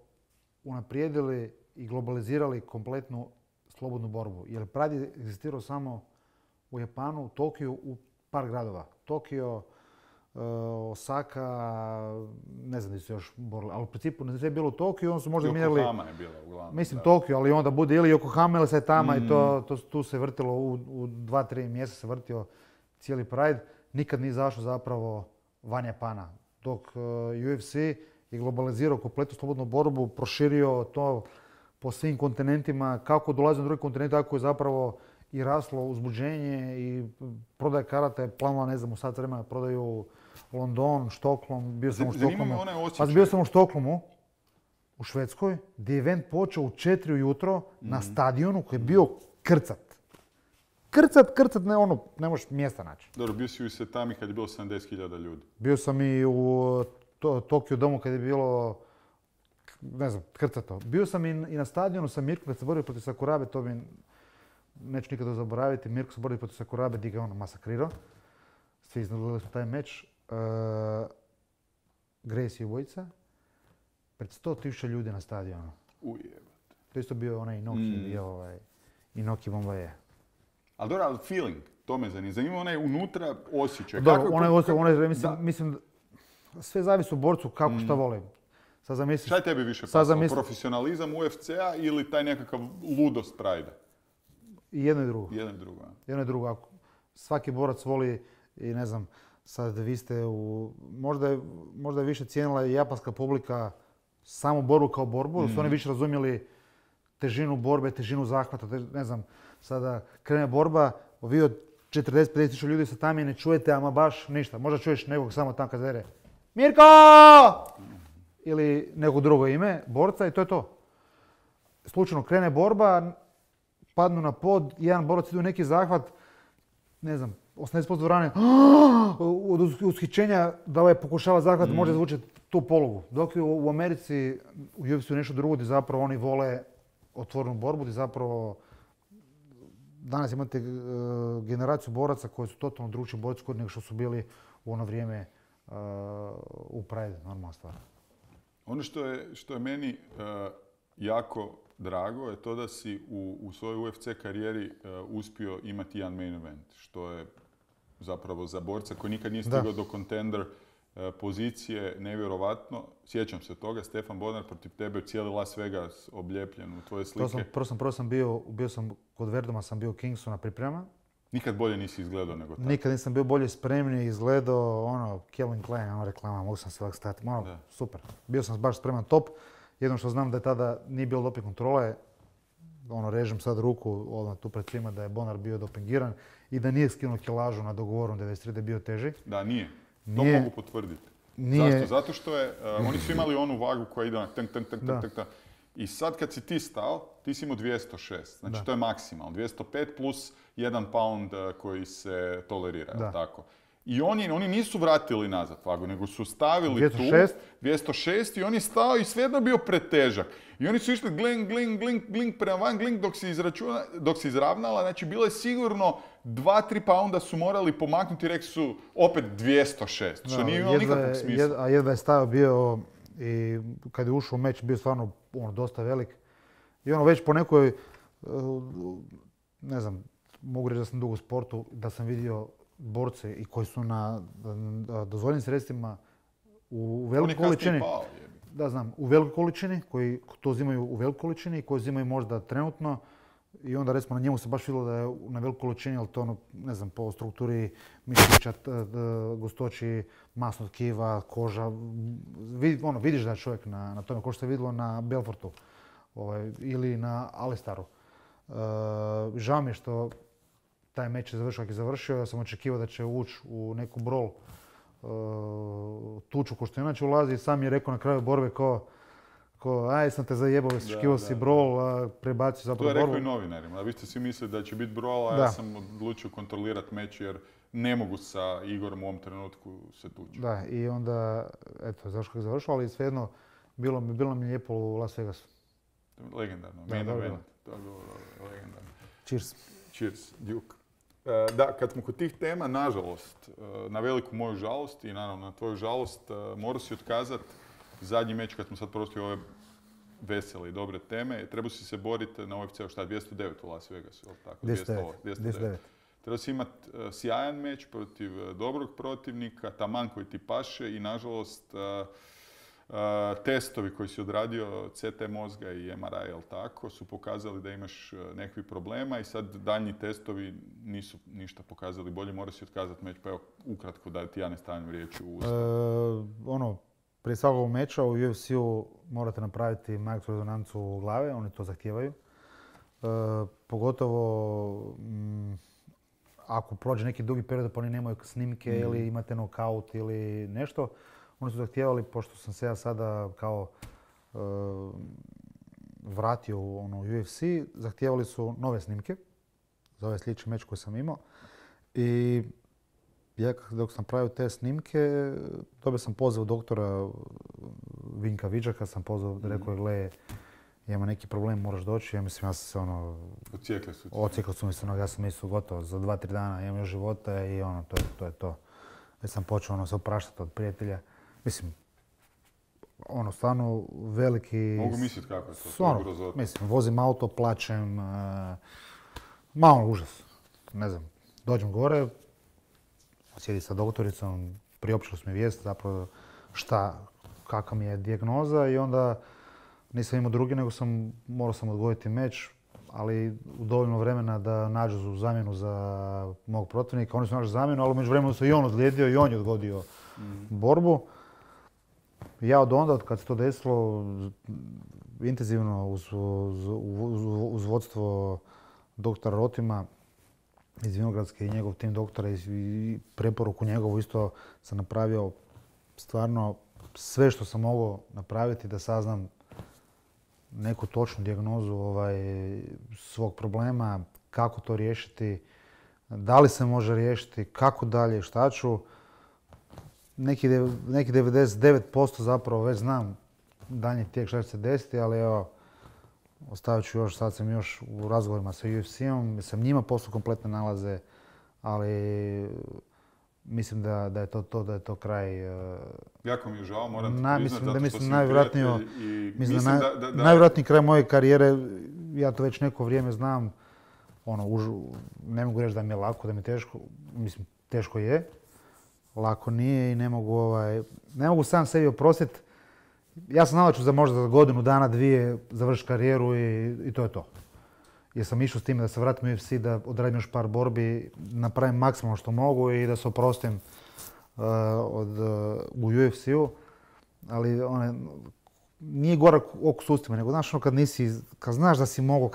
unaprijedili i globalizirali kompletnu slobodnu borbu. Jer Pride je egzistirao samo u Japanu, u Tokiju, u par gradova. Tokio, Osaka, ne znam gdje su još borili, ali u principu ne je bilo u Tokiju, onda su možda mijenjali... Yokohama je bila uglavnom. Mislim Tokio, ali onda bude ili Yokohama ili Saitama i tu se vrtilo u 2-3 mjeseca se vrtio cijeli Pride. Nikad nije izašao zapravo van Japana. Dok UFC je globalizirao kompletnu slobodnu borbu, proširio to po svim kontinentima, kako dolazi na drugi kontinent, tako je zapravo i raslo uzbuđenje i prodaje karate, planula, ne znam, u sat vremena prodaju London, Štokholm, bio sam u Štokholmu. Bio sam u Štokholmu, u Švedskoj, gdje je event počeo u 4 ujutro na stadionu koji je bio krcat. Krcat, ne možeš mjesta naći. Dobro, bio si u Saitami kad je bilo 70.000 ljudi. Bio sam i u Tokio domu kad je bilo, ne znam, krcato. Bio sam i na stadionu sa Mirkom kad se borio protiv Sakurabe, to mi neću nikada zaboraviti. Mirko se borio protiv Sakurabe, di ga on masakrirao. Svi iznadgledali smo taj meč. Gracie i Vojca. Pred 100.000 ljudi na stadionu. Ujebate. To isto bio onaj Inoki Bombaje. Ali dobro, feeling, to me zanima. Zanima onaj unutra osjećaj. Mislim, sve zavisi u borcu kako šta vole. Šta je tebi više pasalo? Profesionalizam UFC-a ili taj nekakav ludost Pride-a? I jedno i drugo. Jedno i drugo. Svaki borac voli i ne znam, sad vi ste možda je više cijenila i japanska publika samu borbu kao borbu, jer su oni više razumjeli težinu borbe, težinu zahvata, ne znam, sada krene borba, vi od 40-50 ljudi sa tamo ne čujete ama baš ništa. Možda čuješ nekog samo tamo kad zere Mirko! Ili neko drugo ime, borca i to je to. Slučajno krene borba, padnu na pod, jedan borac ide u neki zahvat, ne znam, 80% dvorane od ushićenja da ovaj pokušava zahvat može zvučati tu polugu. Dok je u Americi u UFC nešto drugo gdje zapravo oni vole otvorenu borbu, gdje zapravo danas imate generaciju boraca koji su totalno drugčiji borci nego što su bili u ono vrijeme u Pride, normalna stvar. Ono što je meni jako drago je to da si u svojoj UFC karijeri uspio imati jedan main event, što je zapravo za borca koji nikad nije stigao do Contender pozicije, nevjerovatno. Sjećam se toga, Stefan Bodnar protiv tebe, cijeli Las Vegas obljepljen u tvoje slike. Prvo sam bio kod Verduma, sam bio Kingsu na priprema. Nikad bolje nisi izgledao nego tako. Nikad nisam bio bolje spremniji, izgledao, Calvin Klein, reklama, mogu sam se ovak stati, super. Bio sam baš spreman top. Jedno što znam da je tada nije bilo doping kontrole, režem sad ruku odmah tu pred svima da je Bodnar bio dopingiran i da nije skinuo kilažu na dogovoru 93 da je bio teži. Da, nije. To mogu potvrditi. Zašto? Zato što oni su imali onu vagu koja ide na tank. I sad kad si ti stao, ti si imao 206. Znači to je maksimalno. 205 plus 1 pound koji se tolerira, tako? I oni nisu vratili nazad vagu, nego su stavili 206 i on je stao i svejedno bio pretežak. I oni su išli glink prema van, dok se izravnala, znači bilo je sigurno 2-3 pounda su morali pomaknuti i rekli su opet 206, što nije imalo nikakvog smisla. A jedva je stavio bio i kad je ušao u meč bio stvarno dosta velik. I već po nekoj, ne znam, mogu reći da sam dugo u sportu, da sam vidio borce i koji su na dozvoljenim sredstvima u velikoj količini. Da, znam, u velikoj količini, koji to uzimaju u velikoj količini i koji uzimaju možda trenutno. I onda recimo na njemu se baš vidjelo da je na velikoj količini, ali to ne znam, po strukturi mišića, gustoći, masnog tkiva, koža. Vidiš da je čovjek na tome, kao što je vidjelo na Belfortu ili na Alistaru. Žao mi je što taj meč je završio kako je završio. Ja sam očekivao da će ući u neku brol tuču ko što inače ulazi i sam je rekao na kraju borbe aj sam te zajebao, očekivao si brol, prebacio zapravo borbu. To je rekao i novinarima, vi ste svi mislili da će biti brol, a ja sam odlučio kontrolirati meč jer ne mogu sa Igorom u ovom trenutku se tući. Da, i onda, eto, zašto kako je završilo, ali svejedno bilo mi lijepo u Las Vegasu. Legendarno, main event, to je bilo legendarno. Cheers, Duke. Da, kad smo kod tih tema, nažalost, na veliku moju žalost i naravno na tvoju žalost, morao si otkazati zadnji meč kad smo sad prostili ove vesele i dobre teme. Trebao si se boriti na UFC-u 209 u Las Vegasu, ili tako? 209. Trebao si imati sjajan meč protiv dobrog protivnika, taman koji ti paše i nažalost testovi koji si odradio, CT mozga i MRI, jel tako, su pokazali da imaš nekakvih problema i sad daljnji testovi nisu ništa pokazali bolje, mora si otkazati meč, pa evo ukratko da ti ja ne stavim riječ u usta. Prije svakog meča u UFC-u morate napraviti magnetsku rezonancu glave, oni to zahtijevaju. Pogotovo ako prođe neki dugi period pa oni nemaju snimke ili imate knockout ili nešto. Oni su zahtijevali, pošto sam se ja sada kao vratio u UFC, zahtijevali su nove snimke za ovaj sljedeći meč koji sam imao. I ja dok sam pravio te snimke, dobio sam poziv doktora Vinka Vidžaka, sam pozvao, rekao je, gle, ima neki problem, moraš doći. Ja mislim, ja sam se ocijekli su mi se, ja sam mislio gotovo, za 2-3 dana imam još života i to je to. Već sam počeo se opraštati od prijatelja. Mislim, stvarno veliki... Mogu misliti kako je to, grozotno. Mislim, vozim auto, plačem, malo užas, ne znam. Dođem gore, sjedi sa doktoricom, priopćili su mi vijest zapravo kakva mi je dijagnoza i onda nisam imao drugi, nego morao sam odgoditi meč, ali u dovoljno vremena da nađu zamjenu za mog protivnika. Oni su našli zamjenu, ali među vremenu se i on ozlijedio i on je odgodio borbu. Ja od onda, kad se to desilo, intenzivno uz vodstvo doktora Rotima iz Vinogradske i njegov tim doktora i preporuku njegovu isto sam napravio stvarno sve što sam mogao napraviti da saznam neku točnu dijagnozu svog problema, kako to riješiti, da li se može riješiti, kako dalje, šta ću. Neki 99% zapravo već znam daljnji tijek šta će se desiti, ali evo, ostavit ću još, sad sam još u razgovorima sa UFC-om, sam njima poslao kompletne nalaze, ali mislim da je to kraj. Jako mi je žao, moram ti priznat, zato što si prijatelj i mislim da najvjerojatniji kraj moje karijere, ja to već neko vrijeme znam, ne mogu reći da mi je lako, da mi je teško, mislim teško je. lako nije i ne mogu sam sebi oprostiti. Ja sam znao da ću za možda za godinu dana, dvije završiti karijeru i to je to. Jer sam išao s time da se vratim u UFC, da odradim još par borbi, napravim maksimalno što mogu i da se oprostim u UFC-u. Ali nije gorak oko sustima, nego znaš kad znaš da si mogao,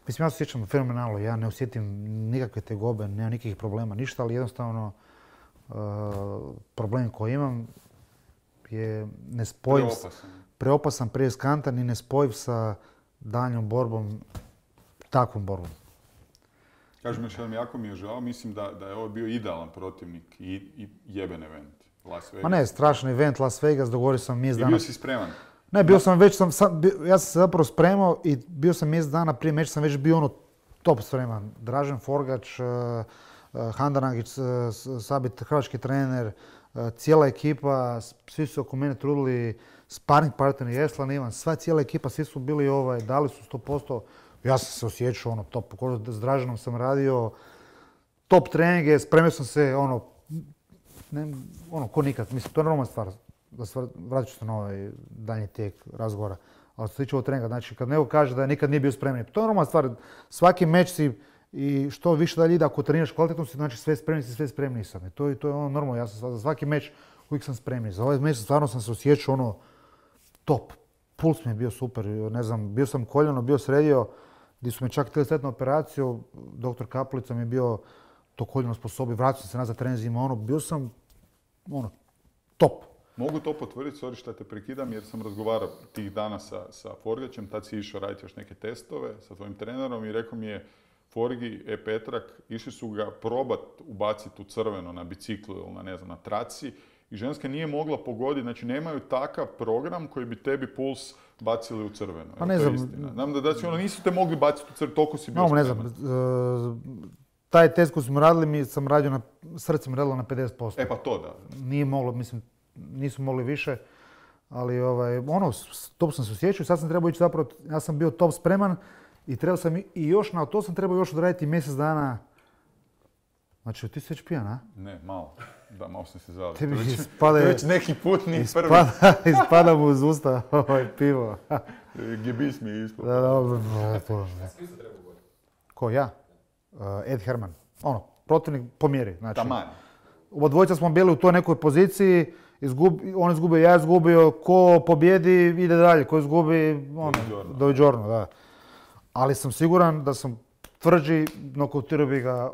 mislim ja se sjećam fenomenalno, ja ne osjetim nikakve tegobe, nema nikakvih problema, ništa, ali jednostavno problem koji imam je nespojiv, preopasan, preriskantan i nespojiv sa daljnjom borbom, takvom borbom. Kažem još jednom, jako mi je žao, mislim da je ovo bio idealan protivnik i jeben event. Las Vegas. Ma ne, strašan event, Las Vegas, dogovorio sam mjesec dana. I bio si spreman? Ne, ja sam se zapravo spremao i bio sam mjesec dana prije meča, sam već bio top spreman. Dražen Forgač, Handanagić, Sabit, hrvatski trener, cijela ekipa, svi su oko mene trudili, sparring partner Jeslan, Ivan, sva cijela ekipa, svi su bili dali su 100%. Ja sam se osjećao top, s Draženom sam radio, top treninge, spremio sam se ko nikad. Mislim, to je normalna stvar. Vratit ću se na ovaj daljnji tijek razgovora. Ali što se tiče ovog treninga, znači kad neko kaže da nikad nije bio spreman, to je normalna stvar. Svaki meč si i što više dalje ide, ako treniraš kvalitetno si, znači sve spremni sam. I to je normalno. Ja sam za svaki meč uvijek sam spremni. Za ovaj meč stvarno sam se osjećao top. Puls mi je bio super. Ne znam, bio sam koljeno, bio sredio, gdje su me čak htjeli staviti na operaciju. Doktor Kaplica mi je bio to koljeno sposobio, vratio sam se nazad trenzima, bio sam top. Mogu to potvrditi, sorry što te prekidam, jer sam razgovarao tih dana sa Forgačem, tad si išao raditi još neke testove sa tvojim trenerom i rekao mi je Forgi, Petrak, išli su ga probat ubaciti u crveno na biciklu ili na traci i ženska nije mogla pogoditi, znači nemaju takav program koji bi tebi puls bacili u crveno. Pa ne znam. Znam da nisu te mogli baciti u crveno, toliko si bio spreman. Ne znam. Taj test koji smo radili, sam radio srce mi radilo na 50%. E pa to da. Nije moglo, mislim, nisu mogli više, ali top sam se osjećao. Sad sam trebao ići zapravo, ja sam bio top spreman i trebao sam na to sam trebao još odraditi mjesec dana. Znači, ti si već pijan, a? Ne, malo. Da, malo sam se zvali. Tebi već neki put nije prvi. Ispada mu uz usta pivo. Gebis mi je ispod. Ko, ja? Ed Herman. Protivnik po mjeri. Znači, taman. Obadvojica smo bili u toj nekoj poziciji, on izgubio, ja izgubio, ko pobjedi ide dalje, ko izgubi, doviđorno, da. Ali sam siguran da sam tvrđi, nokautirao bi ga,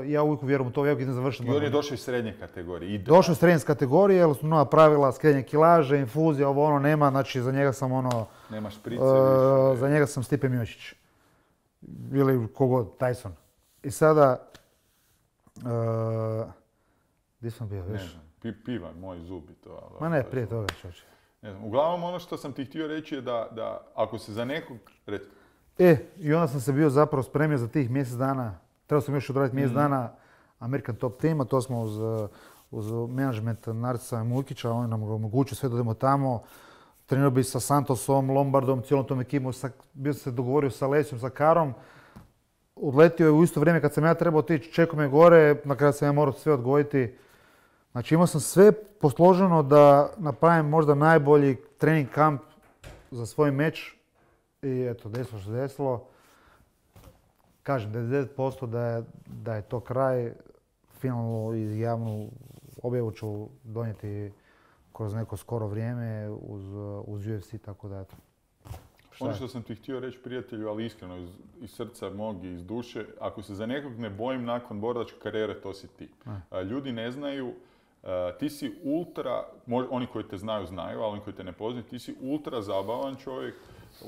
ja uvijek vjerujem u to, ja uvijek idem završiti. I on je došao iz srednje kategorije. Došao iz srednje kategorije, jer su nova pravila, skrenje kilaže, infuzija, nema, znači za njega sam nema šprice više. Za njega sam Stipe Miocić. Ili kogod, Tyson. I sada, gdje sam bio, viš? Ne znam, piva, moj zubi to. Ma ne, prije toga čoče. Ne znam, uglavnom ono što sam ti htio reći je da ako se za nekog... I onda sam se bio zapravo spremio za tih mjesec dana. Trebao sam još odraditi mjesec dana American Top Team, a to smo uz menadžment Narcisa Mujkića, on nam ga omogućio sve da idemo tamo. Trenirao bi sa Santosom, Lombardom, cijelom tom ekipom, bio sam se dogovorio sa Lesijom, sa Karom. Odletio je u isto vrijeme kad sam ja trebao otići, čekao me gore, na kraju sam ja morao sve odgojiti. Znači imao sam sve posloženo da napravim možda najbolji trening kamp za svoj meč. I eto, desilo što se desilo. Kažem, 99% da je to kraj. Finalnu i javnu objavu ću donijeti kroz neko skoro vrijeme uz UFC, tako da eto. Ono što sam ti htio reći, prijatelju, ali iskreno, iz srca mog i iz duše, ako se za nekog ne bojim nakon borilačke karijere, to si ti. Ljudi ne znaju, ti si ultra, oni koji te znaju, ali oni koji te ne poznaju, ti si ultra zabavan čovjek,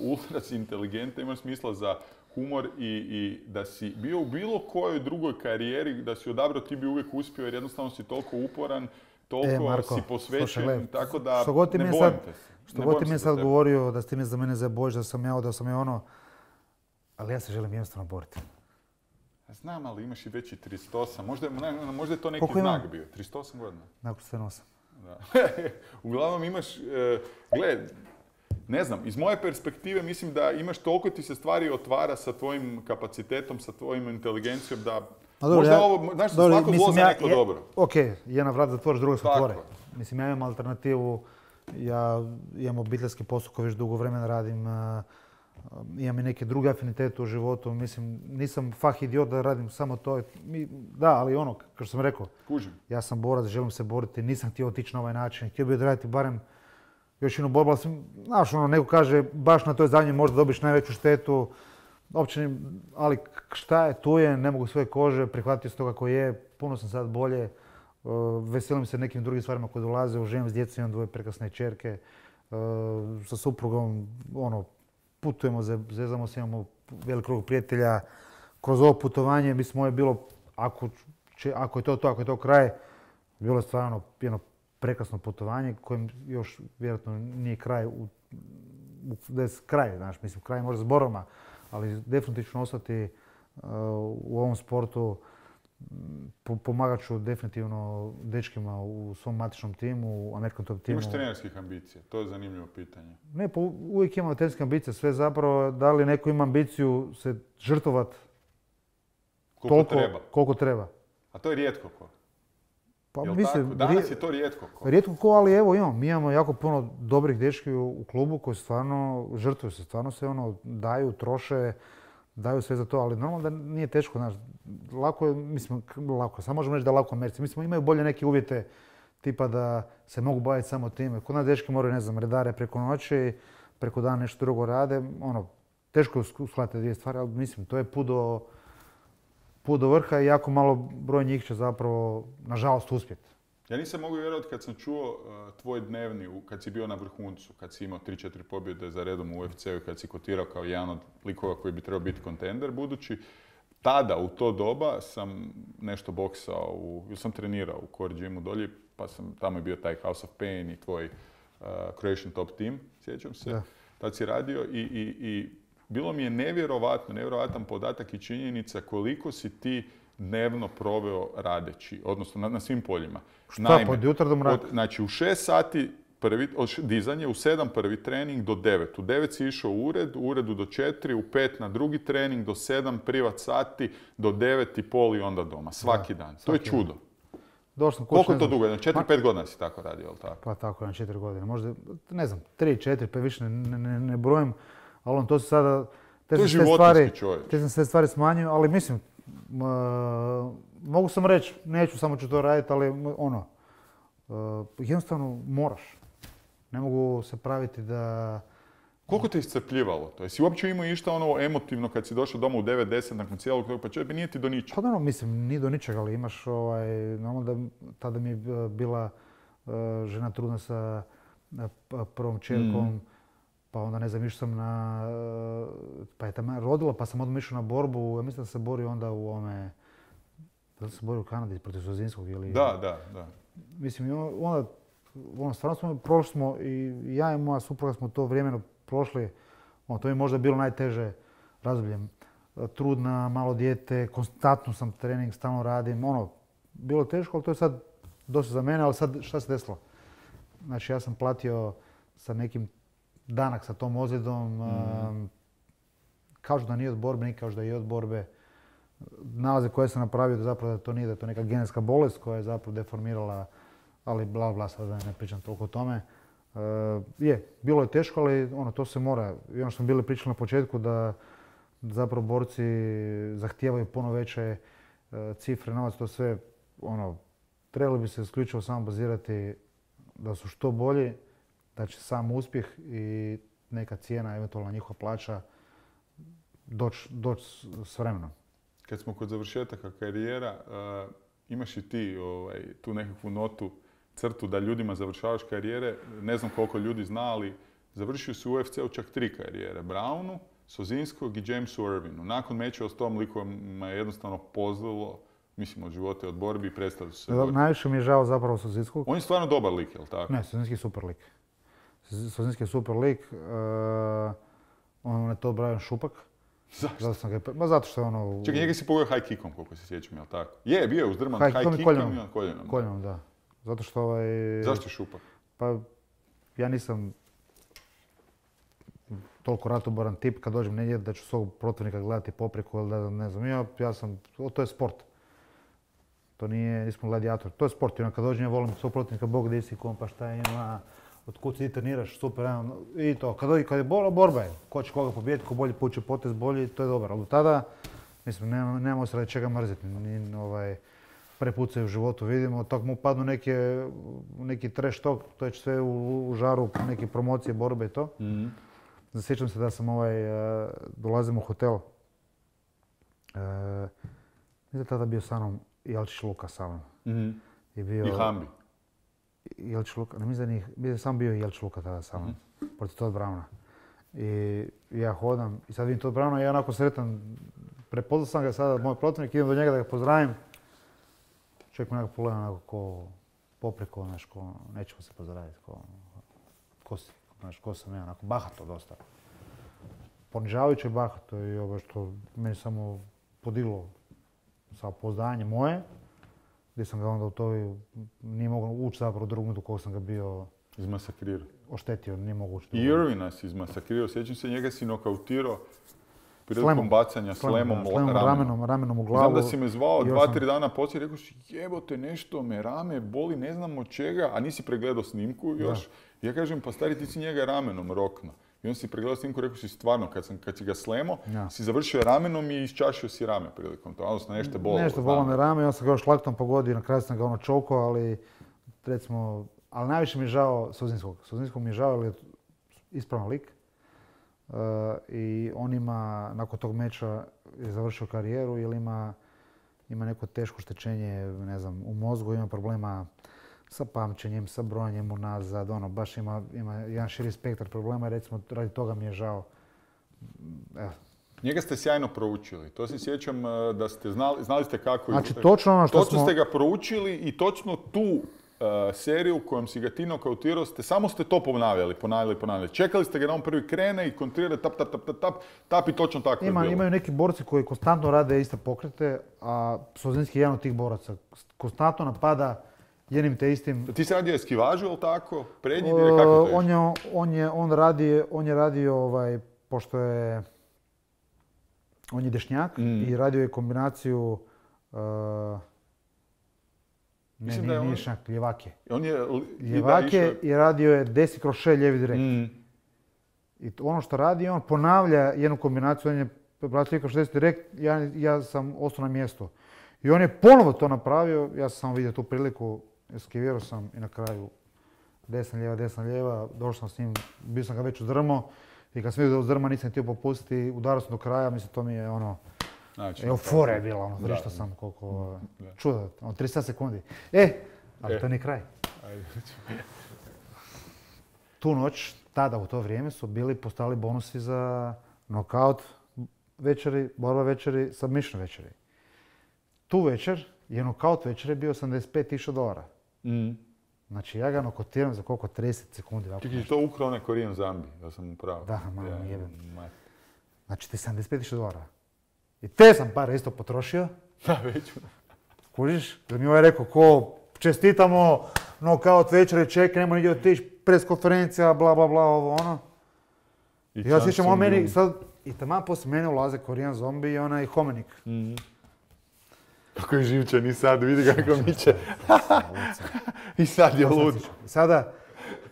ultra si inteligentan, imaš smisla za humor i da si bio u bilo kojoj drugoj karijeri, da si odabrao, ti bi uvijek uspio jer jednostavno si toliko uporan, toliko Marko, si posvećen, slušaj, tako da ne bojim te se. Što god ti mi je sad tebe govorio da si ti mi za mene zabojiš, da sam ja ali ja se želim jednostavno boriti. Znam, ali imaš i veći 38, možda je to neki znak bio, 38 godina. Nakon 78. Da. Uglavnom imaš, ne znam, iz moje perspektive mislim da imaš toliko ti se stvari otvara sa tvojim kapacitetom, sa tvojim inteligencijom da Možda ovo, znaš, svako zlo za neko dobro. Ok, jedna vrat zatvoriš, druga se otvore. Tako. Mislim, ja imam alternativu, ja imam obiteljski posao koji već dugo vremena radim, imam i neke druge afinitete u životu, mislim, nisam fah idiot da radim samo to. Da, ali ono, kao što sam rekao, Kužim. ja sam borac, želim se boriti, nisam htio otići na ovaj način, htio bih odraditi barem još jednu borbu, ali znaš, ono, neko kaže, baš na toj zadnjoj možda dobiš najveću štetu, uopće, ali šta je, tu je, ne mogu svoje kože, prihvatio se to kako je, puno sam sad bolje, veselim se nekim drugim stvarima koje dolaze, živim s djecom, imam 2 prekrasne kćerke, sa suprugom, ono, putujemo, zezamo se, imamo velik krug prijatelja. Kroz ovo putovanje, mislim, ovo je bilo, ako je to kraj, bilo je stvarno jedno prekrasno putovanje kojem još vjerojatno nije kraj, kraj, znaš, mislim, kraj možda s borbama, ali definitivno ću ostati u ovom sportu. Pomagat ću definitivno dečkima u svom matičnom timu, u American Top timu. Imaš trenerskih ambicija? To je zanimljivo pitanje. Ne, pa uvijek imamo trenerske ambicije. Sve zapravo, da li neko ima ambiciju se žrtvovati koliko treba. A to je rijetko ko. Pa Jel mislim, tako? Danas je to rijetko ko. Rijetko ko, ali evo mi imamo jako puno dobrih dečki u klubu koji stvarno žrtvuju se, stvarno se daju, troše, daju sve za to, ali normalno da nije teško, znaš, lako je, mislim, lako, samo možemo reći da je lako Americi. Mislim, imaju bolje neke uvjete, tipa da se mogu baviti samo time. Kod nas dečki moraju, ne znam, redare preko noći, preko dana nešto drugo rade, teško je uskladiti 2 stvari, ali mislim, to je put do vrha i jako malo broj njih će zapravo, nažalost, uspjeti. Ja nisam mogu vjerovati kad sam čuo tvoj dnevni, kad si bio na vrhuncu, kad si imao 3-4 pobjede za redom u UFC-u i kad si kotirao kao jedan od likova koji bi trebao biti kontender, budući tada, u to doba, sam nešto boksao, sam trenirao u Core Gymu dolje, pa tamo je bio taj House of Pain i tvoj Croatian Top Team, sjećam se. Da. Tad si radio i bilo mi je nevjerovatan podatak i činjenica koliko si ti dnevno proveo radeći, odnosno na svim poljima. Šta, pod jutra do mraka? Znači, u 6 sati dizanje, u 7 prvi trening do 9. U 9 si išao u uredu do 4, u 5 na drugi trening, do 7 privat sati, do 9 i pol i onda doma. Svaki dan. To je čudo. Koliko to dugo? 4-5 godina si tako radio, jel tako? Pa tako, 4 godine. Možda, ne znam, 3-4, pa više ne brojim. Ali to se sada... To je životinski čovjek. Te sam sve stvari smanjio, ali mislim, mogu sam reći, neću, samo ću to raditi, ali jednostavno moraš. Ne mogu se praviti da... Koliko te iscrpljivalo to? Jesi uopće imao išta emotivno kad si došao doma u 9-10 nakon cijelog tog, pa čovjek nije ti do ničega? Pa da, mislim, nije do ničega, ali imaš, normalno da tada mi je bila žena trudna sa prvom čerkom, pa onda ne znam, išao sam pa je tamo rodila, pa sam odmah išao na borbu, ja mislim da se borio onda da se borio u Kanadi protiv Sozinskog ili... Da. Mislim, onda, stvarno prošli smo i ja i moja supruga smo to vrijeme prošli, to mi je možda bilo najteže razdoblje. Trudna, malo dijete, konstantno sam trening, stalno radim, bilo je teško, ali to je sad dosta za mene, ali sad šta se desilo? Znači, ja sam platio sa nekim danak sa tom ozljedom, kažu da nije od borbe, neki kažu da je od borbe. Nalaze koje sam napravio da zapravo da to nije, da je to neka genetska bolest koja je zapravo deformirala, ali bla, sad da ne pričam toliko o tome. Bilo je teško, ali to se mora. I ono što smo bili pričali na početku da zapravo borci zahtijevaju puno veće cifre, novac, to sve, trebali bi se isključivo samo bazirati da su što bolji, da će sam uspjeh i neka cijena, eventualna njihova plaća, doći s vremenom. Kad smo kod završetaka karijera, imaš i ti tu nekakvu notu, crtu da ljudima završavaš karijere. Ne znam koliko ljudi zna, ali završio si u UFC-u čak 3 karijere. Brownu, Sozinskog i Jamesu Irvinu. Nakon mečeva s tom likovima je jednostavno pozlilo, mislim, od života i od borbi i prestali su se boriti. Najviše mi je žao zapravo Sozinskog. On je stvarno dobar lik, jel tako? Ne, Sozinski je super lik. Sozinski je super lik. On je to Brian Šupak. Zašto? Zato što je ono... Čekaj, njega si pogodio high kickom, koliko se sjećam, jel tako? Bio je uzdrman high kickom i koljenom. Koljenom, da. Zato što Zašto Šupak? Pa, ja nisam toliko ratoboran tip kad dođem negdje da ću svog protivnika gledati poprijeku ili da ne znam. Ja sam, to je sport. To nismo gladijator. To je sport. I kad dođem, ja volim suprotnika, Bog gdje si, kom, pa šta ima, od kud ti treniraš, super. I to. Kad je borba je. Ko će koga pobijediti, ko bolje puće potez, bolji, to je dobro. Ali do tada, mislim, nemamo se radi čega mrziti. Prepucaju u životu, vidimo, tako mu padnu neki trash talk, to je sve u žaru neke promocije, borbe i to. Zasjećam se da sam dolazim u hotel. Mislim tada bio sa mnom Jelčić Luka sa mnom. I Hambi. Jelčić Luka, ne mislim da sam bio Jelčić Luka tada sa mnom, protiv Todd Browna. I ja hodam i sad vidim Todd Browna i ja onako sretan, prepoznao sam ga sada, moj protivnik, idem do njega da ga pozdravim. Čovjek me nekako pogleda onako ko popreko, nećemo se pozdraviti, ko sam ja, onako bahato dosta. Ponižavajuće bahato i ovo što meni samo podiglo sa pouzdanje moje, gdje sam ga onda u toj, nije mogao ući zapravo u drugu minutu koga sam ga bio izmasakrirao. Oštetio, nije mogu ući. I Irvina si izmasakrirao, sjećam se, njega si nokautirao prilikom bacanja slemom ramenom u glavu. Znam da si me zvao 2-3 dana poslije i rekao si jebote nešto me rame boli, ne znam od čega, a nisi pregledao snimku još. Da. Ja kažem pa stari ti si njega ramenom rokno. I on si pregledao snimku i rekao si stvarno kad si ga slemo, si završio ramenom i iščašio si rame prilikom toga, odnosno nešto bolo. Nešto bolo me rame, on sam ga još laktom pogodio, na kraju sam ga čokao, ali recimo, ali najviše mi je žao Suzinskog. Suzinskog mi je žao jer je ispravan lik. I on ima, nakon tog meča je završio karijeru jer ima neko teško oštećenje, ne znam, u mozgu, ima problema sa pamćenjem, sa brojanjem unazad, baš ima jedan širi spektar problema i recimo radi toga mi je žao. Evo. Njega ste sjajno proučili, to se sjećam da ste znali ste kako... Znači točno ono što smo... ste ga proučili i točno tu seriju kojom si ga ti nokautirao, samo ste to ponavljali. Čekali ste ga da on prvi krene i kontrira tap i točno tako je bilo. Imaju neki borci koji konstantno rade iste pokrete, a Sozinski je jedan od tih boraca. Konstantno napada jednim te istim... Ti si radio eskivažu, ili tako? Prednji ide, kako to je? On je radio, pošto je... On je dešnjak i radio je kombinaciju... Nije dešnjak, ljevake. Ljevake i radio je 10 kroz 6 lijevi direkt. I ono što radi, on ponavlja jednu kombinaciju, on je bracio kroz 10 direkt, ja sam ostao na mjestu. I on je ponovo to napravio, ja sam samo vidio tu priliku, eskivirao sam i na kraju desna lijeva, došao sam s njim, bio sam ga već uzdrmao i kad sam vidio da uzdrma nisam htio popustiti, udarao sam do kraja, mislim to mi je euforija je bila, vrištao sam koliko čudo, 30 sekundi. Ali to nije kraj. Tu noć, tada u to vrijeme su postali bonusi za knockout večeri, borba večeri, submission večeri. Tu večer je knockout večeri bio $85,000. Znači ja ga nokotiram za koliko? 30 sekundi. Čekaj, to ukrao onaj Korean Zambi, da sam upravo. Da, malo jebem. Znači ti $75,000. I te sam pare isto potrošio. Da, već. Kužiš? Da mi ovaj rekao, ko čestitamo, knockout večeri, čekaj, nemoj nigdje otići, pres konferencija, bla, bla, bla, ovo, ono. I ja sjećam on meni sad, i taman poslije mene ulaze Korean Zombie i onaj Homenik. Kako je živčan i sad, vidi kako miče. I sad je lud. Sada,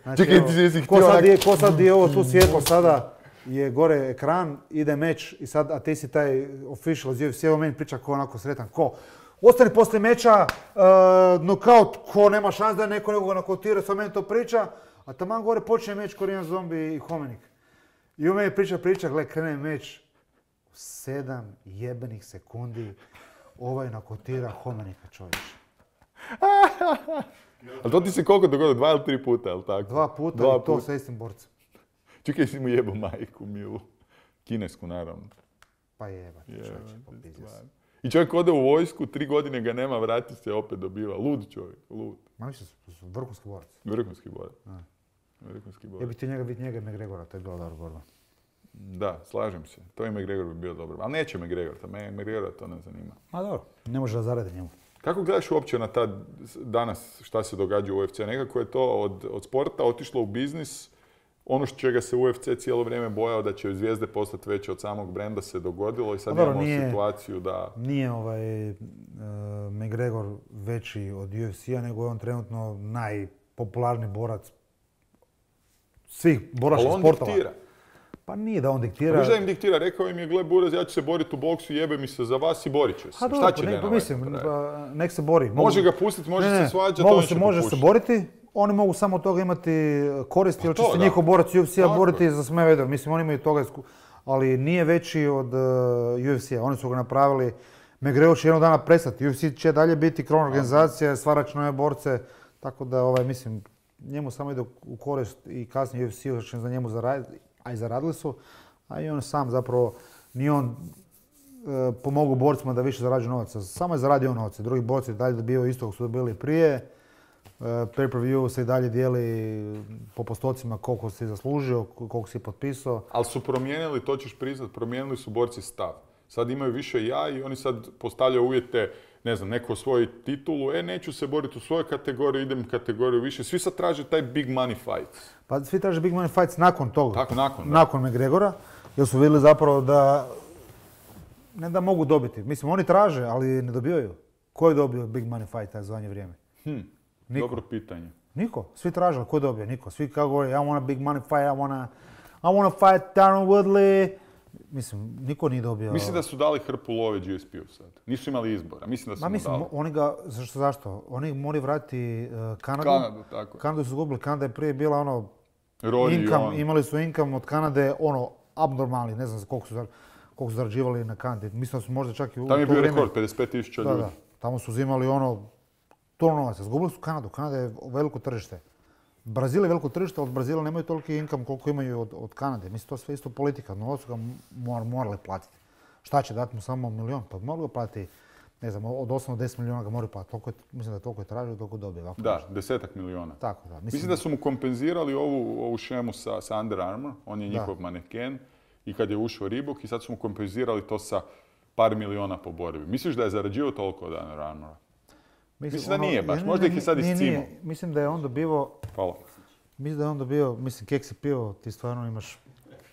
znači, čekaj, ti jesi htio ko sad je ovo tu svjetlo sada, je gore ekran, ide meč i sad, a ti si taj official iz UFC, meni priča ko onako sretan, ko ostane poslije meča, knockout, ko nema šans da neko nekoga nokautira, sad meni to priča, a taman gore počne meč Korean Zombie i Homenik. I on meni priča, gle, krene meč, 7 jebenih sekundi, ovaj nokotira Homenika, čovječe. Ali to ti se koliko dogodilo, 2 ili 3 puta, ali tako? 2 puta i to sa istim borcem. Čekaj, si mu jebao majku milu. Kinesku, naravno. Pa jeba, čovječe, popizio sam. I čovjek ode u vojsku, 3 godine ga nema, vrati se, opet dobiva. Lud čovjek, lud. Ma mislim, vrhunski borac. Vrhunski borac. Ja bih ti njega McGregora, to je bila dobra borba. Da, slažem se. To i McGregor bi bio dobro. Ali neće McGregor, McGregora to ne zanima. A dobro, ne može da zaradi njemu. Kako gledaš uopće na danas šta se događa u UFC? Nekako je to od sporta otišlo u biznis, ono čega se UFC cijelo vrijeme bojao da će zvijezde postati veće od samog brenda se dogodilo i sad imamo situaciju da... Nije McGregor veći od UFC-a, nego je on trenutno najpopularniji borac svih boračkih sportova. Ali on diktira. Pa nije da on diktira. Pa da im diktira, rekao im je, gle Buraz, ja ću se boriti u boksu, jebe mi se za vas i borit ću se. Šta će Dana White napraviti? Nek se bori. Može ga pustiti, može se svađati, može se boriti. Oni mogu samo od toga imati koristi, jer će se njihov borac UFC-a boriti za sve vedro. Mislim, oni imaju toga, ali nije veći od UFC-a. Oni su ga napravili. McGregor će jednog dana prestati. UFC će dalje biti krovna organizacija, stvarač nove borce. Tako da, mislim, njemu samo ide u korist i kasnije UFC će za njemu zaraditi, a i zaradili su. A i on sam zapravo, ni on pomogao borcima da više zarađuju novaca. Samo je zaradio novaca. Drugi borci dalje dobivaju isto kako su dobili prije. Pay-per-view se i dalje dijeli po postocima koliko si zaslužio, koliko si potpisao. Ali su promijenili, to ćeš priznat, promijenili su borci stav. Sad imaju više ja i oni sad postavljaju uvjete, ne znam, neko osvoji titulu, neću se boriti u svojoj kategoriji, idem kategoriju više. Svi sad traže taj big money fight. Pa svi traže big money fights nakon toga. Tako, nakon McGregora, jer su vidjeli zapravo da ne da mogu dobiti. Mislim, oni traže, ali ne dobivaju. Ko je dobio big money fight za zadnje vrijeme? Niko. Dobro pitanje. Niko. Svi traže, ko je dobio? Niko. Svi kao govori, I want a big money fight, I want to fight Tyron Woodley. Mislim, niko nije dobio... Mislim da su dali hrpu love GSP-u sad. Nisu imali izbora. Mislim da su mu dali. Oni ga... Zašto? Oni moraju vratiti Kanadu. Kanadu, tako. Kanadu su izgubili. Kanada je prije bila imali su income od Kanade, abnormalni. Ne znam koliko su zarađivali na Kanadi. Mislim da su možda čak i u... Tamo je bio rekord, 55,000 ljudi. Da. Tamo su uzimali to novaca. Zgubili su Kanadu. Kanada je veliko tržište. Brazil je veliko tržište, od Brazila nemaju toliki income koliko imaju od Kanade. Mislim, to je sve isto politika. Novac su ga morali platiti. Šta će dati mu samo milion? Pa morali ga platiti, ne znam, od 8 do 10 miliona ga moraju platiti. Mislim da toliko je tražio, toliko dobije. Da, 10 miliona. Tako da. Mislim da su mu kompenzirali ovu šemu sa Under Armour. On je njihov maneken. I kad je ušao Reebok i sad su mu kompenzirali to sa par miliona po borbi. Misliš da je zarađivao toliko od Under Armoura? Mislim da nije baš, možda ih je sad iscimao. Mislim da je on dobivao... Hvala. Mislim da je on dobio, kek si pio, ti stvarno imaš...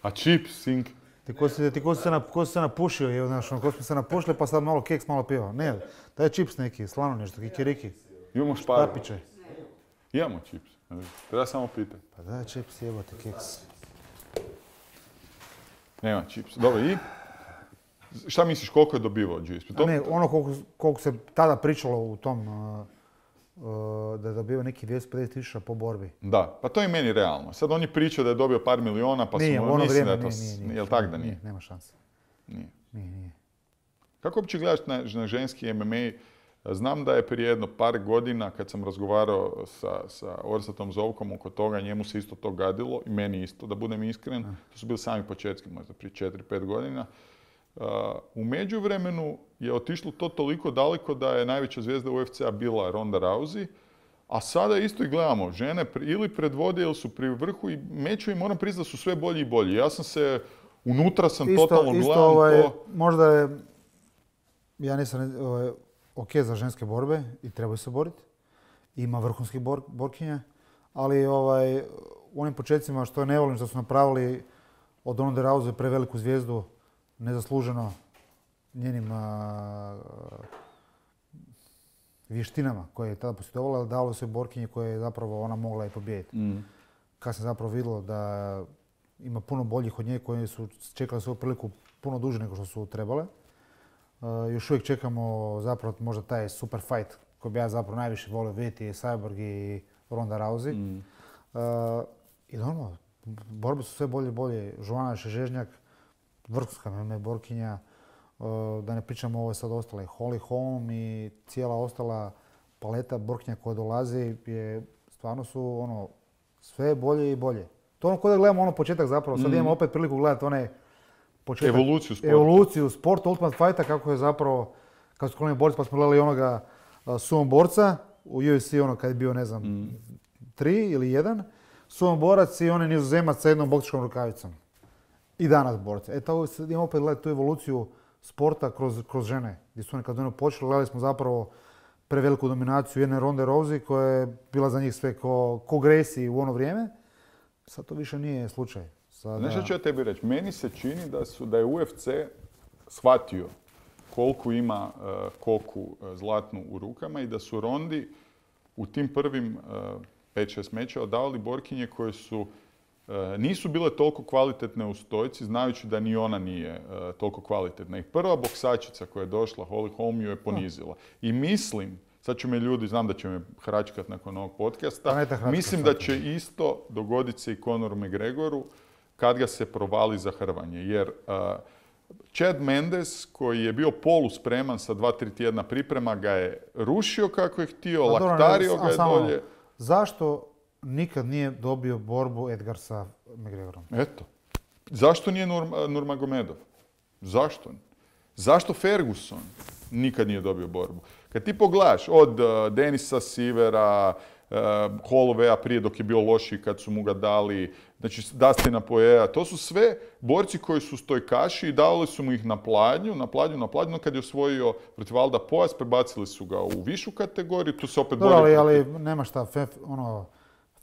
A chips, sink? Ti ko si se napušio, znaš, ko smo se napušili pa sad malo keks, malo pivo. Ne, daj čips neki, slano nešto, kikiriki. Imamo šparu. Štapiće. Imamo čips, treba samo pitati. Pa daj čips, jebote, keks. Nema čips, dobro i? Šta misliš, koliko je dobivao GSP? Ne, koliko se tada pričalo u tom, da je dobio neki 250.000 po borbi. Da, pa to je meni realno. Sad oni pričaju da je dobio par miliona, pa nije, su ono mislim da je to... Nije, jel' tak da nije? Nema šanse. Nije. Kako uopće gledaš na ženski MMA? Znam da je prije jedno par godina, kad sam razgovarao sa Orsatom Zovkom oko toga, njemu se isto to gadilo, i meni isto, da budem iskren. To su bili sami početki, možda prije 4-5 godina. U međuvremenu je otišlo to toliko daleko da je najveća zvijezda UFC-a bila Ronda Rousey, a sada isto i gledamo, žene ili predvode ili su pri vrhu i mečevi, moram priznati da su sve bolji i bolji. Ja sam se, unutra sam totalno gledam to. Možda je, ja nisam ok za ženske borbe i trebaju se boriti. Ima vrhunskih borkinja, ali u onim početcima što ne volim što su napravili od Ronda Rousey preveliku zvijezdu, nezasluženo njenim vještinama koje je tada posjedovala, ali dalo se borkinje koje je zapravo ona mogla i pobijediti. Kad sam zapravo vidjelo da ima puno boljih od nje koje su čekali svoju priliku puno duže nego što su trebale. Još uvijek čekamo zapravo možda taj super fight koji bi ja zapravo najviše volio vidjeti, je Cyborg i Ronda Rousey. I normalno, borbe su sve bolje i bolje. Joanna Šežežnjak, vrhunska MMA borkinja, da ne pričamo ovo sad ostale, Holly Holm i cijela ostala paleta borkinja koja dolazi, stvarno su sve bolje i bolje. To ono da gledamo početak zapravo, sad imamo opet priliku gledati onaj početak. Evoluciju sporta, Ultimate Fighta, kako je zapravo, kad su koloni borci pa smo gledali onoga sumo borca, u UFC kad je bio, ne znam, 3 ili 1, sumo borac i onaj Nizozemac sa jednom boksačkom rukavicom. I danas borce. Tako imamo opet gledati tu evoluciju sporta kroz žene. Gdje su oni kad oni počeli, gledali smo zapravo preveliku dominaciju jedne Ronde Rousey koja je bila za njih sve ko Gracie u ono vrijeme. Sad to više nije slučaj. Sada... Nešto ću ja tebi reći. Meni se čini da je UFC shvatio koliko ima koku zlatnu u rukama i da su Rondi u tim prvim 5-6 mečeva davali borkinje koje su nisu bile toliko kvalitetne u stojci, znajući da ni ona nije toliko kvalitetna. I prva boksačica koja je došla, Holly Holm, ju je ponizila. I mislim, sad će me ljudi, znam da će me hračkat nakon ovog podcasta, mislim da će isto dogoditi se i Conoru McGregoru kad ga se provali za hrvanje. Jer Chad Mendes, koji je bio poluspreman sa 2-3 tjedna priprema, ga je rušio kako je htio, laktario ga je dolje. Zašto nikad nije dobio borbu Edgar sa McGregorom? Eto. Zašto nije Nurmagomedov? Zašto? Zašto Ferguson nikad nije dobio borbu? Kad ti pogledaš od Denisa Sivera, Hollowaya prije dok je bio lošiji kad su mu ga dali, znači Dustina Poiriera, to su sve borci koji su stojkaši i davali su mu ih na pladnju, no kad je osvojio protiv Alda pojas, prebacili su ga u višu kategoriju, tu se opet bori. Ali nema šta,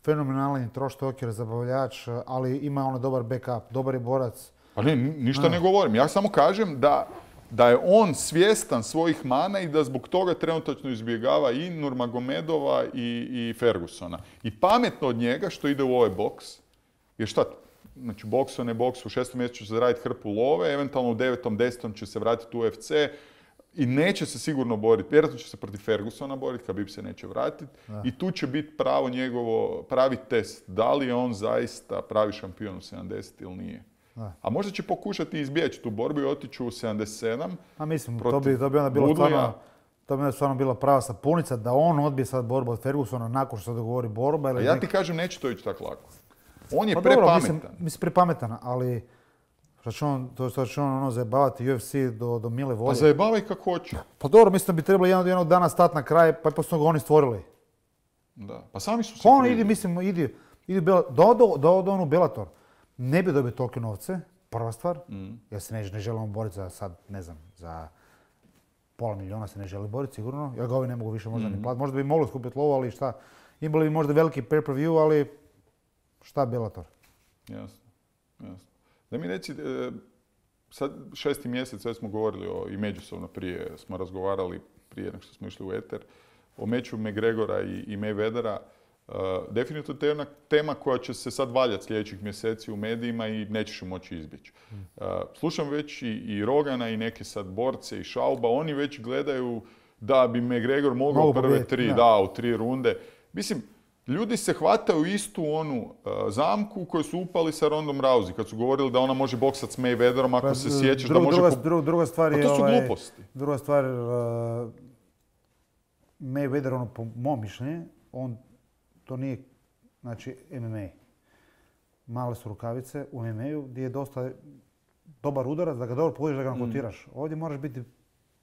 fenomenalni troštoker, zabavljač, ali ima dobar backup, dobar je borac. Pa ne, ništa ne govorim, ja samo kažem da je on svjestan svojih mana i da zbog toga trenutačno izbjegava i Nurmagomedova i Fergusona. I pametno od njega što ide u ovaj boks, jer šta, znači boks ne boks, u 6. mjesecu će se zaraditi hrpu love, eventualno u 9. 10. će se vratiti u UFC i neće se sigurno boriti, vjerojatno će se protiv Fergusona boriti, Khabib se neće vratiti i tu će biti pravi test, da li je on zaista pravi šampion u 70 ili nije. A možda će pokušati izbjeći tu borbu i otići u 77. A mislim, to bi onda bilo stvarno, to bi stvarno bila prava sapunica da on odbije sad borbu od Fergusona nakon što se dogovori borba. A ja ti kažem, neće to ići tako lako. On je prepametan. Mislim, prepametan, ali što će on zajebavati UFC do mile volje. Pa zajebavaj kako hoće. Pa dobro, mislim da bi trebalo jednog dana stati na kraj, pa poslije ga oni stvorili. Da, pa sami su se on idi da ode on u Bellator. Ne bi dobio tolike novce, prva stvar, jer se ne želimo boriti za sad, ne znam, za $500,000 se ne želi boriti sigurno, jer ga ovi ne mogu više možda ni platiti. Možda bi mogli skupiti lovu, ali šta, imali bi možda veliki pay-per-view, ali šta Bellator? Jasno. Da mi reci, sad 6. mjesec, sve smo govorili i međusobno prije, smo razgovarali prije nego što smo išli u eter, o meču McGregora i Mayweathera. Definitivno to je jedna tema koja će se sad valjati sljedećih mjeseci u medijima i nećeš ju moći izbjeći. Slušam već i Rogana i neke sad borce i Šauba, oni već gledaju da bi McGregor mogao prve 3, u 3 runde. Mislim, ljudi se hvataju istu onu zamku u kojoj su upali sa Rondom Rousey, kad su govorili da ona može boksati s Mayweatherom ako se sjećaš da može... Druga stvar je... Pa to su gluposti. Druga stvar, Mayweather, po mom mišljenju, to nije, znači, MMA. Male su rukavice u MMA-u gdje je dosta dobar udarac, da ga dobro pogodiš, da ga nakotiraš. Ovdje moraš biti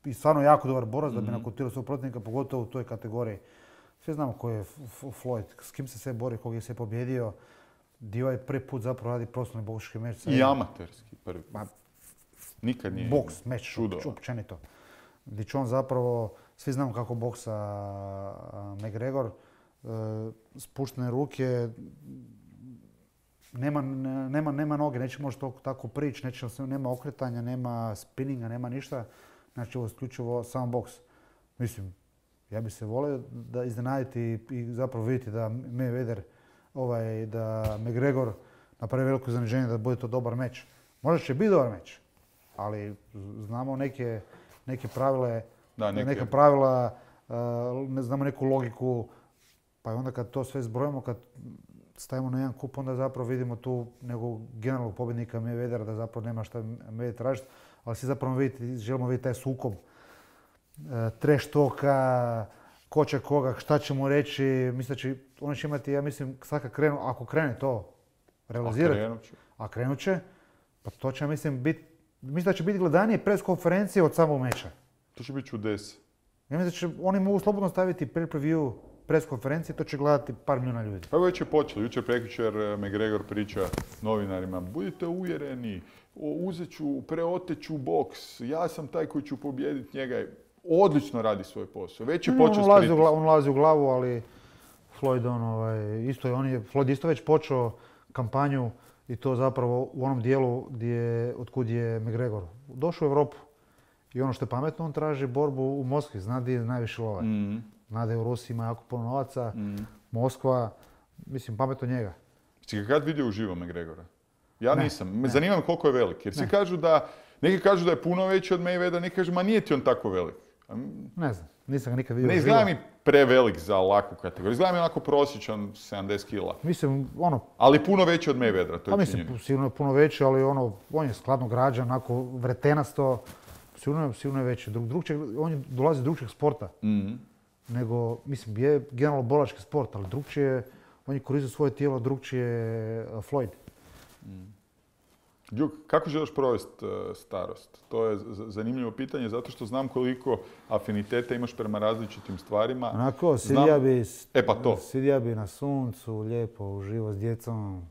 i stvarno jako dobar borac da bi nakotirao svog protivnika, pogotovo u toj kategoriji. Svi znamo ko je Floyd, s kim se sve bori, kog je sve pobjedio, gdje ovaj prvi put zapravo radi profesionalni boksački meč. I amaterski prvi put. Nikad nije. Boks, meč, općenito. Gdje će on zapravo, svi znamo kako boksa McGregor, spuštene ruke, nema noge, neće možda tako prići, nema okretanja, nema spinninga, nema ništa. Znači ovo je isključivo samo boks. Mislim, ja bi se volio da iznenaditi i zapravo vidjeti da Mayweather, da McGregor napravi veliko iznenađenje da bude to dobar meč. Možda će biti dobar meč, ali znamo neke pravila, ne znamo neku logiku. Pa onda kad to sve zbrojimo, kad stavimo na jedan kup, onda zapravo vidimo tu nekog generalnog pobjednika Mayweathera da zapravo nema šta Mayweather tražiti, ali svi zapravo želimo vidjeti taj sukob trash talka, ko će koga, šta će mu reći, oni će imati, ja mislim, sad kad krenu, ako krene to realizirati, a krenut će, pa to će, mislim da će biti gledanije pres konferencije od samog meča. To će biti čudes. Ja mislim da će oni mogu slobodno staviti pay-per-view pres konferencije, to će gledati par milijuna ljudi. Pa već je počelo. Jučer prekjučer McGregor priča novinarima, budite uvjereni, preoteću boks, ja sam taj koji ću pobijediti njega. Odlično radi svoj posao. Već je počeo s pritiskom. On ulazi u glavu, ali Floyd, Floyd isto već počeo kampanju i to zapravo u onom dijelu otkud je McGregor došao u Europu. I ono što je pametno, on traži borbu u Moskvi, zna gdje je najviše love. Zna da je u Rusiji ima jako puno novaca, Moskva, mislim, pametno njega. Si ga kad vidio uživo McGregora? Ja nisam. Zanima me koliko je velik. Jer neki kažu da je puno veći od Mayweathera, neki kažu, ma nije ti on tako velik. Ne znam, nisam ga nikad vidio uživo. Ne izgleda mi prevelik za laku kategoriju. Izgleda mi onako prosječan 70 kila. Mislim, ali puno veći od Mayweathera, to je mislim, sigurno je puno veći, ali on je skladno građan, onako vretenasto. Sigurno je veći. On dolazi iz drugčijeg sporta. Nego, mislim, je generalno bolački sport, ali drugčije, on je koristio svoje tijelo, drugčije Floyd. Đuk, kako želiš provesti starost? To je zanimljivo pitanje, zato što znam koliko afiniteta imaš prema različitim stvarima. Onako, sidija bi na suncu, lijepo, uživo s djecom,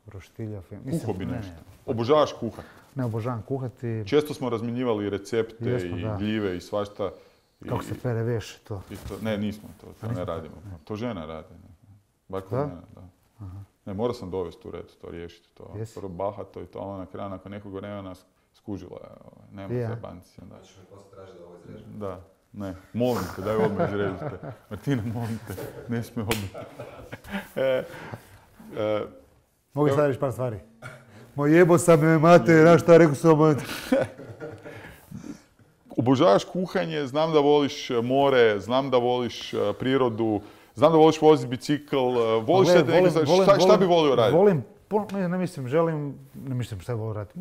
roštilja. Kuho bi nešto. Obožavaš kuhat? Ne obožavam kuhati. Često smo razmjenjivali recepte i gljive i svašta. Kako se pere veš to? Ne, nismo to ne radimo. To žena radi. Bar kod mene, da. Ne, morao sam dovesti u red to riješiti. Prvo bahato i to, ona na kraju nakon nekog vremena skužila. Nema zajebanci. Znači me poslije traži da ovo izrežem. Da. Ne, molim te, daj odmah izrežite. Martina, molim te, ne smije odmah. Mogu staviš par stvari. Moj jebo sam me mate, znaš šta rekao sam vam. Obožavaš kuhanje, znam da voliš more, znam da voliš prirodu, znam da voliš voziti bicikl, voliš šta bi volio raditi? Ne mislim šta bi volio raditi.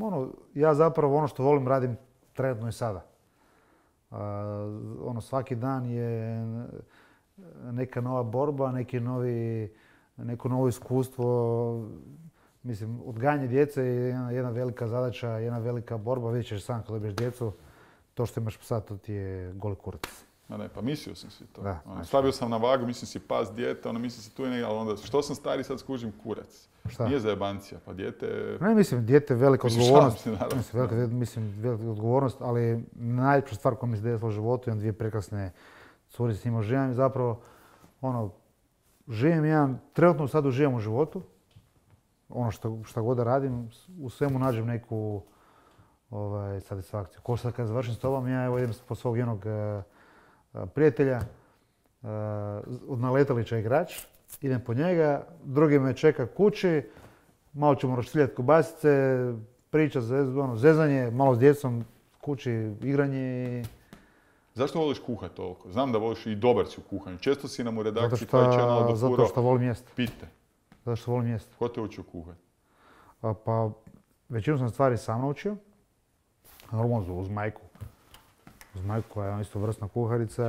Ja zapravo ono što volim radim trenutno i sada. Svaki dan je neka nova borba, neko novo iskustvo. Mislim, odgajanje djece je jedna velika zadaća, jedna velika borba. Vidjet ćeš sam kad dobiješ djecu, to što imaš psa, to ti je goli kurac. Ne, pa mislio sam si to. Stavio sam na vagu, mislim si pas dijete, mislim si tu je negdje, ali onda što sam stari sad skužim kurac. Šta? Nije zajebancija, pa dijete... Ne, mislim, dijete je velika odgovornost. Velika odgovornost, ali najljepša stvar koja mi se desila u životu, imam dvije prekrasne curice s njima živim. Zapravo, trenutno sad uživam u životu. Šta god da radim, u svemu nađem neku satisfakciju. Ko sad kad završim s tobom, ja idem po svog jednog prijatelja, od Naletalića igrač, idem po njega, drugi me čeka kući, malo ćemo roštiljati kobasice, priča, zezanje, malo s djecom, kući, igranje. Zašto voliš kuhati toliko? Znam da voliš i dobar si u kuhanju. Često si nam u redakciji zato što volim jesti. Pite. Zato što volim jesti. Ko te učio kuhati? Pa, većinu sam stvari sam naučio. Normalno uz majku. Uz majku koja je isto vrstna kuharica.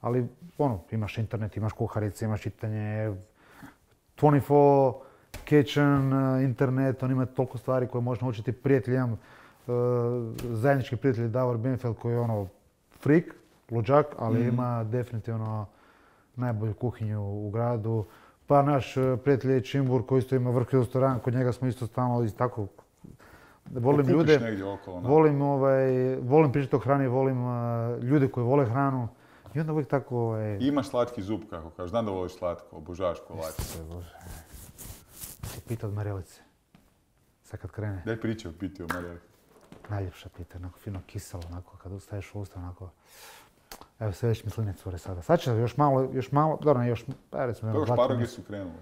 Ali, imaš internet, imaš kuharice, imaš čitanje. 24 kitchen, internet, on ima toliko stvari koje možeš naučiti. Prijatelj, imam zajednički prijatelj Davor Benfeld koji je freak, luđak, ali ima definitivno najbolju kuhinju u gradu. Pa naš prijatelj je Čimbur koji isto ima vrhunski restoran, kod njega smo isto stalno i tako. Volim ljude, volim pričati o hrani, volim ljude koji vole hranu. I onda uvijek tako... Imaš slatki zub, kako kažeš. Znam da voliš slatko, obožavaš kolače. Pita od Marelice. Sad kad krene. Daj priče o piti o Marelici. Najljepša pita, onako fino kiselo, onako kad ustaješ u usta, onako... Evo sve već misline cure sada. Sad će još malo, dobro ne još... Kako šparoge su krenule?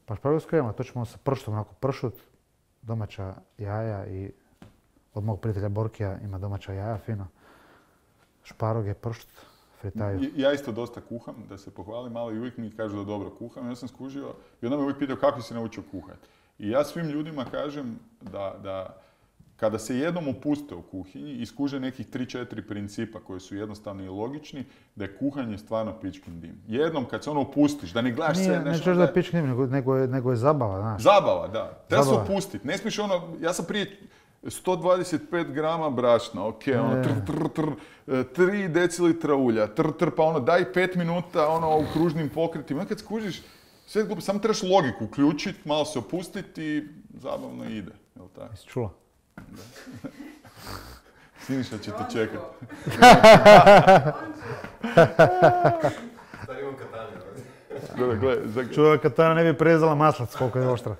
Pa šparoge su krenule, to ćemo sa pršutom, onako pršut, domaća jaja i od mog prijatelja Borkija ima domaća jaja, fino. Šparoge, pršut, fritaju. Ja isto dosta kuham, da se pohvalim, ali uvijek mi kažu da dobro kuham. Ja sam skužio i onda me uvijek pitao kako si naučio kuhati. I ja svim ljudima kažem da kada se jednom opuste u kuhinji i skuže nekih 3-4 principa koji su jednostavni i logični, da je kuhanje stvarno pičkin dim. Jednom kad se opustiš, da ne gledaš sve nešto... Ne češ da je pičkin dim, nego je zabava, znaš. Zabava, da. Treba se opustiti. Ne smiješ ja sam prije 125 grama brašna, 3 decilitra ulja, pa daj 5 minuta u kružnim pokretima. Kad skužiš, sve glupo, samo trebaš logiku uključiti, malo se opustiti i zabavno ide. Jel' tako? Jesi čula? Siniša će te čekati. Sad imam katane. Čuva katana ne bi prezala maslac koliko je oštra.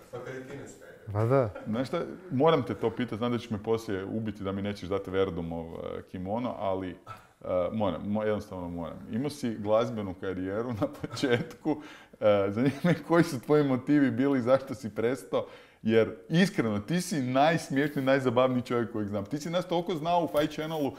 Pa da. Znaš šta, moram te to pitati, znam da ćeš me poslije ubiti da mi nećeš dati Verdumov kimono, ali jednostavno moram. Imao si glazbenu karijeru na početku, zanima me koji su tvoji motivi bili, zašto si prestao, jer iskreno, ti si najsmiješniji, najzabavniji čovjek kojeg znam. Ti si nas toliko znao u Fight Channalu,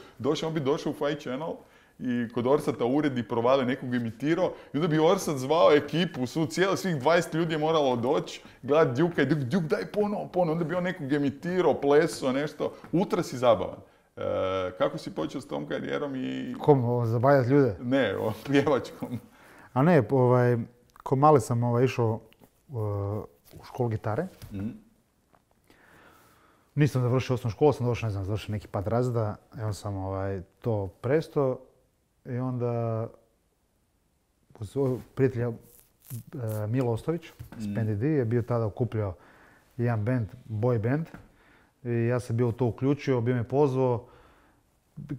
on bi došao u Fight Channel i kod Orsata uredi provale nekog imitirao i onda bi Orsat zvao ekipu, svih 20 ljudi je moralo doći, gledat Djuka i Djuk daj ponovo, onda bi on nekog imitirao, plesao, nešto. Ultra si zabavan. Kako si počeo s tom karijerom i... Kom, zabavljati ljude? Ne, pjevačkom. A ne, ko mali sam išao u školu gitare. Nisam završio osnovnu školu, sam došao, završio neki pad razreda i onda sam to prestao i onda uz prijatelja Milo Ostović iz PNDD je bio tada okupljao jedan band, boy band i ja sam bio u to uključio, bio me pozvao.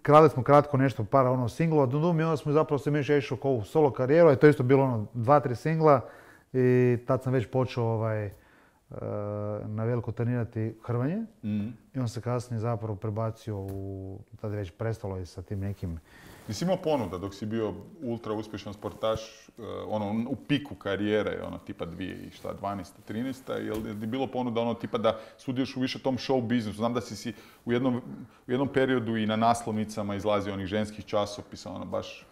Krali smo kratko nešto, par singlova, i onda smo zapravo se Miša išao kao u solo karijeru, i to isto bilo 2-3 singla i tad sam već počeo na veliko trenirati hrvanje i on se kasnije zapravo prebacio tada je već prestalo i sa tim nekim... Nisi imao ponuda dok si bio ultra uspješan sportaš, u piku karijere, tipa 2012. 13. Je li bilo ponuda tipa da sudjeliš u više tom show biznisu? Znam da si u jednom periodu i na naslovnicama izlazio onih ženskih časopisa, baš...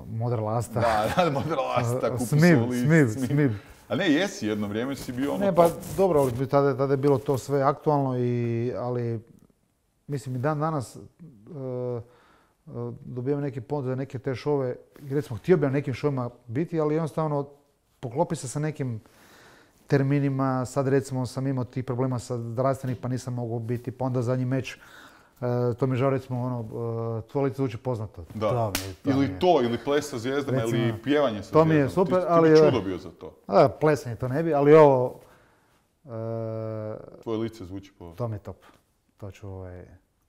Modra lasta. Da, modra lasta, kupi Smib. A ne, jesi jedno vrijeme si bio Ne, pa dobro, tada je bilo to sve aktualno, ali mislim i dan danas dobijem neke ponude za neke te šove. Recimo, htio bi na nekim šovima biti, ali jednostavno poklopi se sa nekim terminima. Sad recimo sam imao tih problema sa zdravstvenih pa nisam mogao biti, pa onda zadnji meč. To mi je žao recimo, tvoje lice zvuči poznato. Da, ili ples sa zvijezdama, recimo, ili pjevanje sa zvijezdama. To mi je super, ali... Ti bi čudo bio za to. Plesanje to ne bi, ali ovo... Tvoje lice zvuči po... To mi je top.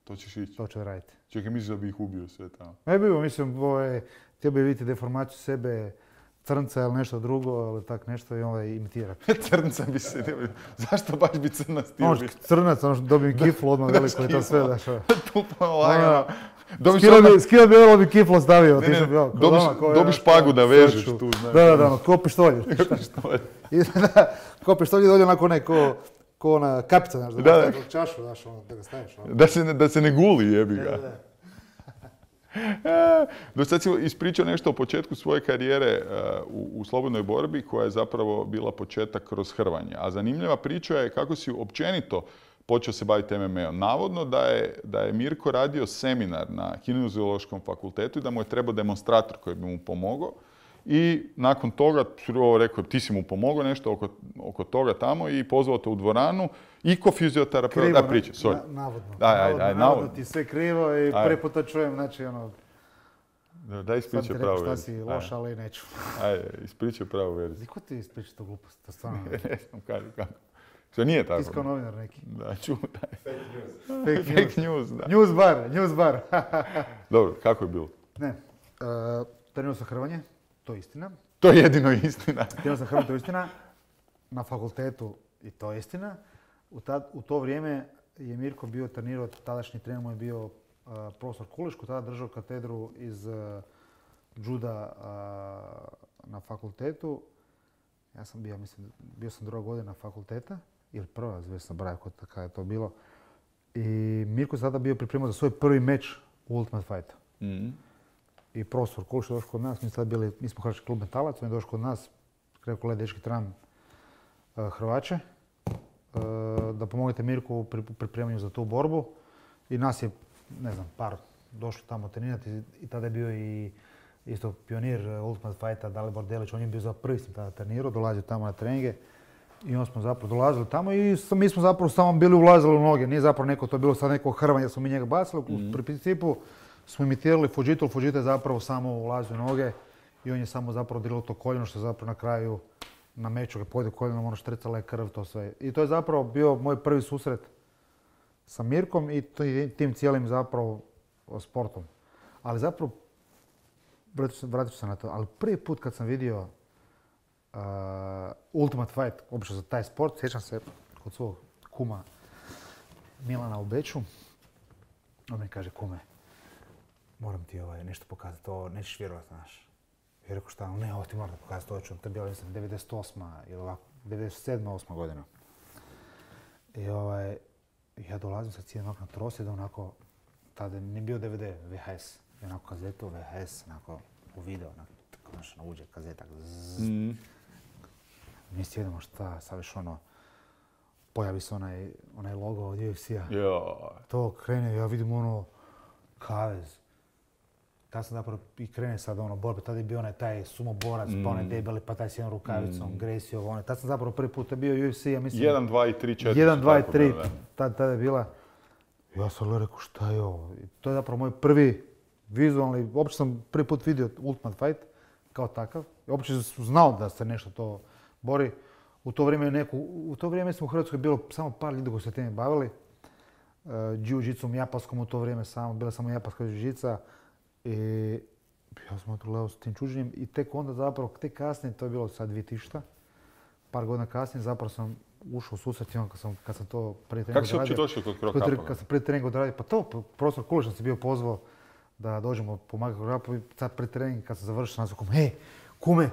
To ćeš ići? To ću raditi. Čekaj, misliš da bi ih ubio sve tamo? Ne bi, mislim, htio bi vidjeti deformaciju sebe, crnca ili nešto drugo, ili tak nešto i imitira. Crnca bi se htio. Zašto baš bi crnac htio biti? Crnac, dobijem kiflu odmah veliko i to sve. Tupo lagano. Skio bi ovo bi kiflo stavio. Dobiš pagu da vežeš tu. Da, ko pištolj. Ko pištolj dođe onako ko ona kapica, znaš, da čašu, znaš, da ga staviš. Da se ne guli, jebi ga. Do sad si ispričao nešto o početku svoje karijere u slobodnoj borbi, koja je zapravo bila početak kroz hrvanje. A zanimljiva priča je kako si općenito počeo se baviti MMA-om. Navodno da je Mirko radio seminar na Kineziološkom fakultetu i da mu je trebao demonstrator koji bi mu pomogao. I nakon toga, rekao, ti si mu pomogao nešto oko toga tamo i pozvao te u dvoranu i ko fizioterapeut. Krivo, priča, sorry. Navodno. Navodno ti sve krivo i prvi put to čujem, znači Daj ispričaj pravu verziju. Sad ti rekao šta si loš, ali neću. Ajde, ispričaj pravu verziju. Ko ti ispriča to glupost? To stvarno... Ne znam kako. Što nije tako? Ti si kao novinar neki. Da, čutaj. Fake news, da. News bar. Dobro, kako je bilo? Ne, trenirao sam hrvanje, to je istina. To je jedino istina. Trenirao sam hrvanje, to je istina. Na fakultetu i to je istina. U to vrijeme je Mirko bio trenirao, tadašnji trener mu je bio profesor Kuliš, koji tada držao katedru iz juda na fakultetu. Ja sam bio sam druga godina fakulteta, ili prva, već sam brao kada je to bilo. I Mirko je tada bio pripremao za svoj prvi meč u Ultimate Fightu. I profesor Kuliš je došao kod nas, mi smo Hrvatski klub Metalac, on je došao kod nas, rekao, gledaj, dečki, trebam Hrvače, da pomognete Mirku u pripremanju za tu borbu. I nas je, ne znam, par došlo tamo trenirati i tada je bio i isto pionir Ultimate Fighta, Dalibor Delić, on je bio za prvi sam tada trenirao, dolazio tamo na treninge i onda smo zapravo dolazili tamo i mi smo zapravo samo bili ulazili u noge, nije zapravo neko, to je bilo sad neko hrvanje, smo mi njega bacili, u principu smo imitirali Fujita, Fujita je zapravo samo ulazio u noge i on je samo zapravo dirilo to koljeno što je zapravo na kraju na meču kad pojede koljenom, ono štricala je krv, to sve. I to je zapravo bio moj prvi susret sa Mirkom i tim cijelim zapravo sportom. Ali zapravo, vratit ću se na to, ali prvi put kad sam vidio Ultimate Fight, obično za taj sport, sjećam se kod svog kuma Milana u Beču. On mi kaže, kume, moram ti nešto pokazati, to nećeš vjerovati, znaš. I rekao šta, ne, ovo ti moram pokazati, to ću, to je bilo, mislim, 98. ili ovako, 97. 8. godina. I ja dolazim sa cijenog na trosjed, onako, tada nije bio DVD, VHS. I onako kazetu, VHS, onako, u video, onako, konačno uđe kazeta, zzz. Mi sjedimo šta, sad viš pojavi se onaj logo od UFC-a. To krene, ja vidim kavez. Tad sam zapravo i krene sad borbe, tada je bio taj sumoborac, pa onaj debeli, pa taj s jednom rukavicom, Gracie, tad sam zapravo prvi put bio UFC, ja mislim... 1, 2 i 3, 4. 1, 2 i 3, tada je bila. Ja sam rekao, šta je ovo? To je zapravo moj prvi vizualni, uopće sam prvi put vidio Ultimate Fight kao takav. Uopće sam znao da se nešto to bori. U to vrijeme smo u Hrvatskoj bilo samo par ljudi koji se time bavili. Jiu-jitsu japanskom u to vrijeme bila samo japanska jiu-jitsa. I ja sam otruljao s tim čuđenjem i tek onda zapravo, tek kasnije, to je bilo sad 2000, par godina kasnije, zapravo sam ušao u susret kad sam to prije treninga odradio. Kako si uopće došao kod Krokapa? Kad sam prije treninga odradio, pa to, profesor Kulić nas je bio pozvao da dođemo pomagati Krokapu i sad prije treninga kad sam završio, sam rekao, hej, kume,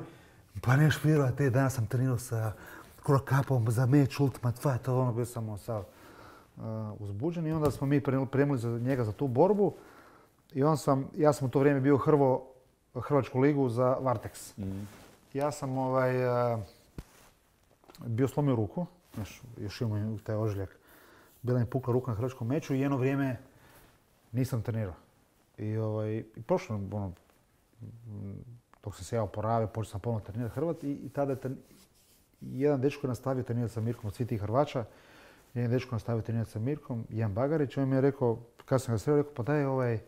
pa neš vjerovati, danas sam trenirao sa Krokapom za meč Ultimate Fight, bio sam sad uzbuđen i onda smo mi pripremili za njega za tu borbu. I ja sam u to vrijeme bio Hrvačku ligu za Vartex. Ja sam bio slomio ruku, još imam taj ožiljak. Bila mi pukla ruka na hrvačkom meču i jedno vrijeme nisam trenirao. I prošlo, dok sam se ja oporavio, počeo sam ponovno trenirati Hrvat i tada je jedan dečko je nastavio trenirati sa Mirkom od svih tih Hrvača. Jedan dečko je nastavio trenirati sa Mirkom, Jan Bagarić, on mi je rekao, kad sam ga sreo, rekao, pa daj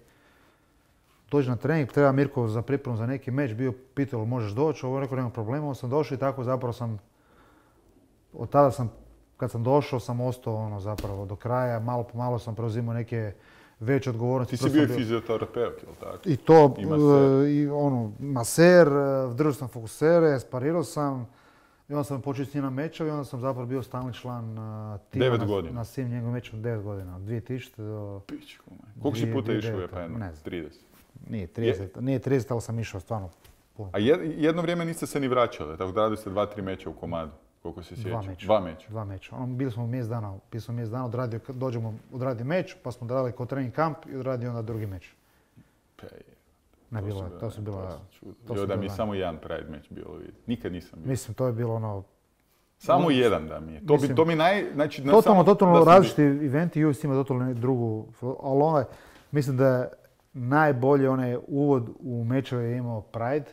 dođi na trening, treba Mirko za pripremu za neki meč, bio pitao možeš doći, ovo je rekao nema problema, onda sam došao i tako zapravo od tada kad sam došao sam ostao zapravo do kraja, malo po malo sam preuzimao neke veće odgovornosti. Ti si bio i fizioterapeut, ili tako? I to, maser, držao sam fokusere, sparirao sam i onda sam počeo s njim na mečevi i onda sam zapravo bio stalni član tima 9 godina. Na svim njegovim mečima 9 godina, od 2000 do... Pičku, koliko si puta išao u EPN? Ne znam. 30. Nije 30, ali sam išao stvarno puno. A jedno vrijeme niste se ni vraćali, tako da radili ste 2-3 meča u komadu, koliko se sjećam. 2 meča. Bili smo mjesec dana, odradio meč, pa smo odradili kao trening kamp i odradio onda drugi meč. To su bila... Jo, da mi je samo jedan Pride meč bilo vidjeti. Nikad nisam bio. Mislim, to je bilo Samo jedan da mi je. To mi znači... Totalno različiti eventi, UFC ima totalno drugu, ali mislim da je najbolje onaj uvod u mečeve je imao Pride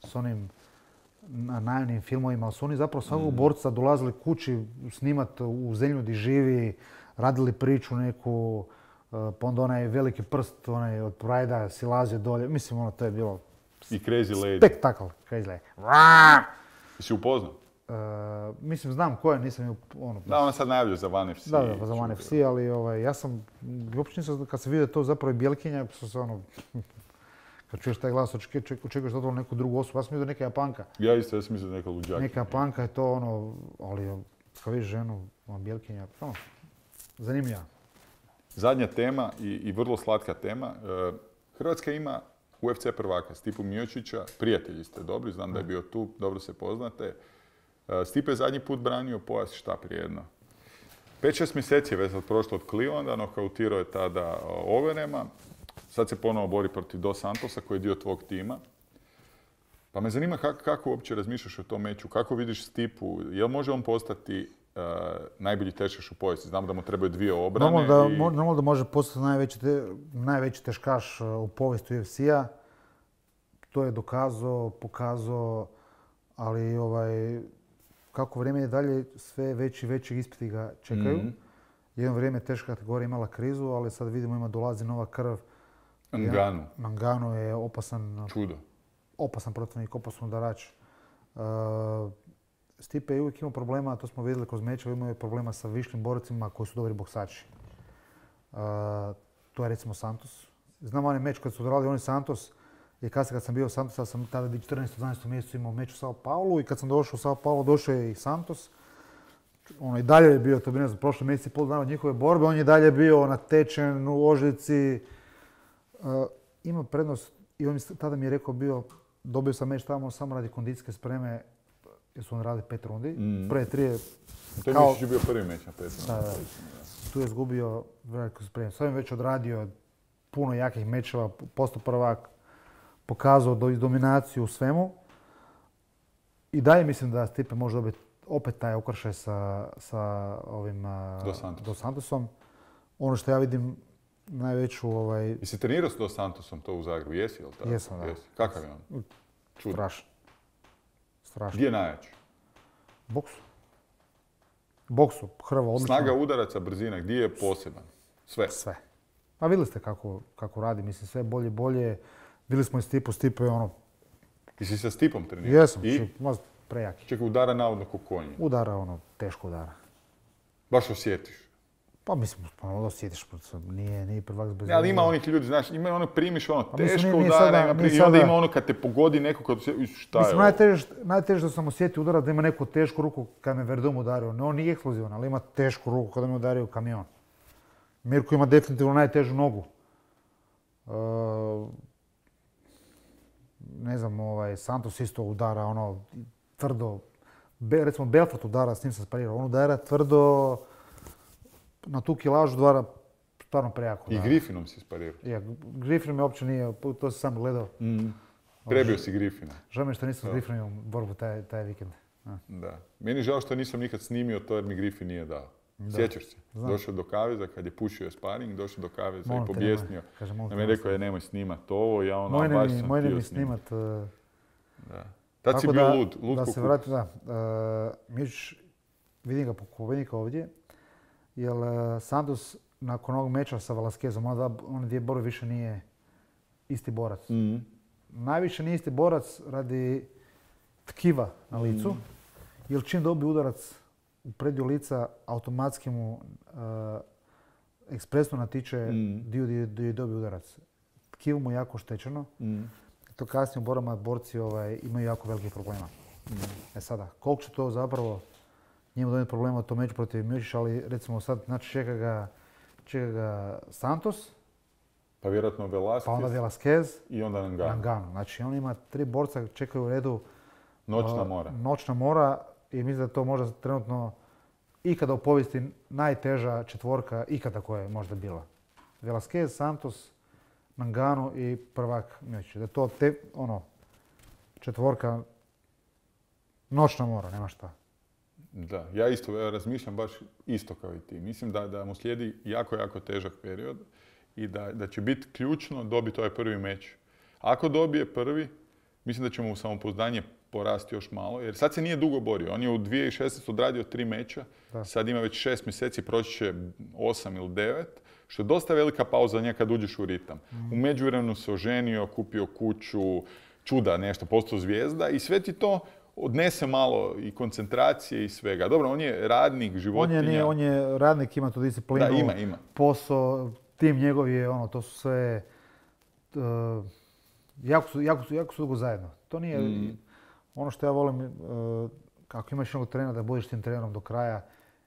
s onim najavnim filmovima, ali su oni zapravo svakog borca dolazili kući snimati u zemlju gdje živi, radili priču neku, pa onda onaj veliki prst od Pride-a silazio dolje. Mislim, to je bilo... I Crazy Lady. Spektakl, Crazy Lady. Si upoznao? Mislim, znam ko je, nisam ju... Da, ona sad najavlja za One FC. Da, za One FC, ali ja sam... Uopće nisam, kad se vidio to zapravo je Bjelkinja, sam se kad čuješ taj glas, očekuješ totalno neku drugu osobu. Ja sam vidio neka Japanka. Ja sam mislio neka luđaka. Neka Japanka je to ali kad vidiš ženu, Bjelkinja, zanimljiva. Zadnja tema i vrlo slatka tema. Hrvatska ima UFC prvaka Stipu Miocića, prijatelji ste dobri, znam da je bio tu, dobro se poznate. Stipe je zadnji put branio pojas šta prije jedno. 5-6 mjeseci je već prošlo od Clevelanda, nokautirao je tada Overema. Sad se ponovo bori protiv Dos Santosa koji je dio tvog tima. Pa me zanima kako uopće razmišljaš o tom meču, kako vidiš Stipu, jel može on postati najbolji teškaš u povijesti? Znamo da mu trebaju 2 obrane. Normalno da može postati najveći teškaš u povijesti UFC-a. To je dokazao, pokazao, ali kako vrijeme je dalje, sve veći ispiti ga čekaju. Jedno vrijeme teška kategorija imala krizu, ali sad vidimo dolazi nova krv. Ngannou je opasan. Čudo. Opasan protivnik, opasan udarač. Stipe je uvijek imao problema, to smo vidjeli kroz mečeve, imao je problema sa višlim borcima koji su dobri boksači. To je recimo Santos. Znam onaj meč kad su odradili oni Santos i kasnije kad sam bio Santos, ja sam tada 14. 12. mjesecu imao meč u Sao Paulu i kad sam došao u Sao Paulo, došao je i Santos. ono i dalje je bio, to bi ne znam, prošli mjesec i pol dana od njihove borbe, on je dalje bio natečen u ožici. Ima prednost i on tada mi je rekao bio, dobio sam meč tamo samo radi kondicijske spreme, jer su on radili 5 rundi. Prve 3 je... To je misliš bio prvi meč na 5 rundi. Da. Tu je izgubio veliku spremu. Sve je već odradio puno jakih mečeva, postao prvak, pokazao dominaciju u svemu. I dalje mislim da Stipe može dobiti opet taj okršaj sa ovim Dos Santosom. Ono što ja vidim najveću... Jesi trenirao s Dos Santosom to u Zagrebu? Jesi, jel tako? Jesam, da. Kakav je on? Strašno. Gdje je najjači? Boksu, hrva, odlično. Snaga udaraca, brzina, gdje je poseban? Sve. Pa vidjeli ste kako radi, mislim, sve bolje. Bili smo i Stipe je ono... Jesi sa Stipom trenirao? Jesam, prejaki. Čekaj, udara navodno ko konje. Udara, teško udara. Baš osjetiš? Pa mislim, osjetiš, nije prvak bez... Ali ima onih ljudi, znaš, ima ono primiš teško udara, i onda ima ono kad te pogodi neko, kad šta je ovo? Najteže da sam osjetio udara da ima neku tešku ruku kad me Verdum udario. On nije eksplozivan, ali ima tešku ruku kada me udario kamion. Mirko ima definitivno najtežu nogu. Ne znam, Santos isto udara tvrdo. Recimo Belfort udara, s njim sam sparirao. On udara tvrdo, na tu kilažu udara stvarno prejako. I Griffinom si sparirao? Ja, Griffin me uopće nije, to sam samo gledao. Prebio si Griffina. Žao mi što nisam s Griffinom borbu taj vikend. Da. Meni je žao što nisam nikad snimio to jer mi Griffin nije dao. Sjećaš se? Došao do kaveza kad je pušio sparing, došao do kaveza i pobjesnio. Da mi je rekao nemoj snimat ovo, ja baš sam htio snimat. Da. Tad si bio lud da se vrati, da. Mišić, vidim ga po pobjednika ovdje, jer Santos nakon ovog meča sa Velasquezom, on dvije borbe više nije isti borac. Najviše nije isti borac radi tkiva na licu, jer čim dobi udarac u prednju lica, automatski mu ekspresno natiče dio gdje je dobio udarac. Tkivo mu je jako štećeno. To kasnije u borbama borci imaju jako velikih problema. Sada, koliko će to zapravo njemu donijeti problema to meč protiv Mišića, ali recimo sad čeka ga Santos. Pa vjerojatno Velasquez. Pa onda Velasquez. I onda Ngannou. Znači on ima 3 borca, čekaju u redu. Noćna mora i mislim da to možda trenutno ikada u povijesti najteža četvorka ikada koja je možda bila. Velasquez, Santos, Ngannou i prvak Mišić. Da je to četvorka noćna mora, nema šta. Da, ja isto razmišljam baš isto kao i ti. Mislim da mu slijedi jako težak period i da će biti ključno dobiti ovaj prvi meč. Ako dobije prvi, mislim da će mu samopouzdanje porasti još malo, jer sad se nije dugo borio. On je u 2016 odradio 3 meča, sad ima već 6 mjeseci, proći će 8 ili 9, što je dosta velika pauza njega kad uđeš u ritam. U međuvremenu se oženio, kupio kuću, čuda nešto, postao zvijezda i sve ti to odnese malo i koncentracije i svega. Dobro, on je radnik, životinja. On je radnik, ima tu disciplinu, ima. Posao, tim njegov je, to su sve, jako su dugo zajedno. To nije, ono što ja volim, ako imaš jednog trenera da budeš tim trenerom do kraja,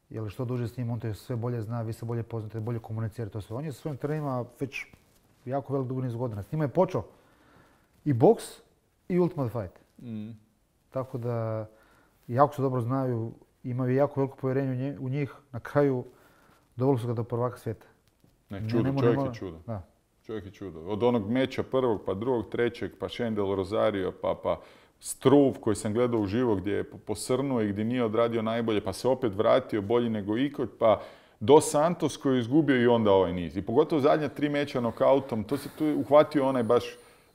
jer što duže s njim, on te sve bolje zna, vi se bolje poznate, bolje komunicirate, to sve. On je sa svojim trenerima već jako velik dugo niz godina. S njima je počeo i boks i Ultimate Fight. Tako da jako se dobro znaju, imaju jako veliko povjerenje u njih. Na kraju doveli su ga do prvaka svijeta. Čovjek je čudo. Da. Čovjek je čudo. Od onog meča prvog, pa drugog, trećeg, pa Shendel Rosario, pa Struve koji sam gledao uživo gdje je posrnuo i gdje nije odradio najbolje, pa se opet vratio bolji nego ikad, pa Dos Santos koji je izgubio i onda ovaj niz. I pogotovo zadnja 3 meča nokautom, to se tu uhvatio onaj baš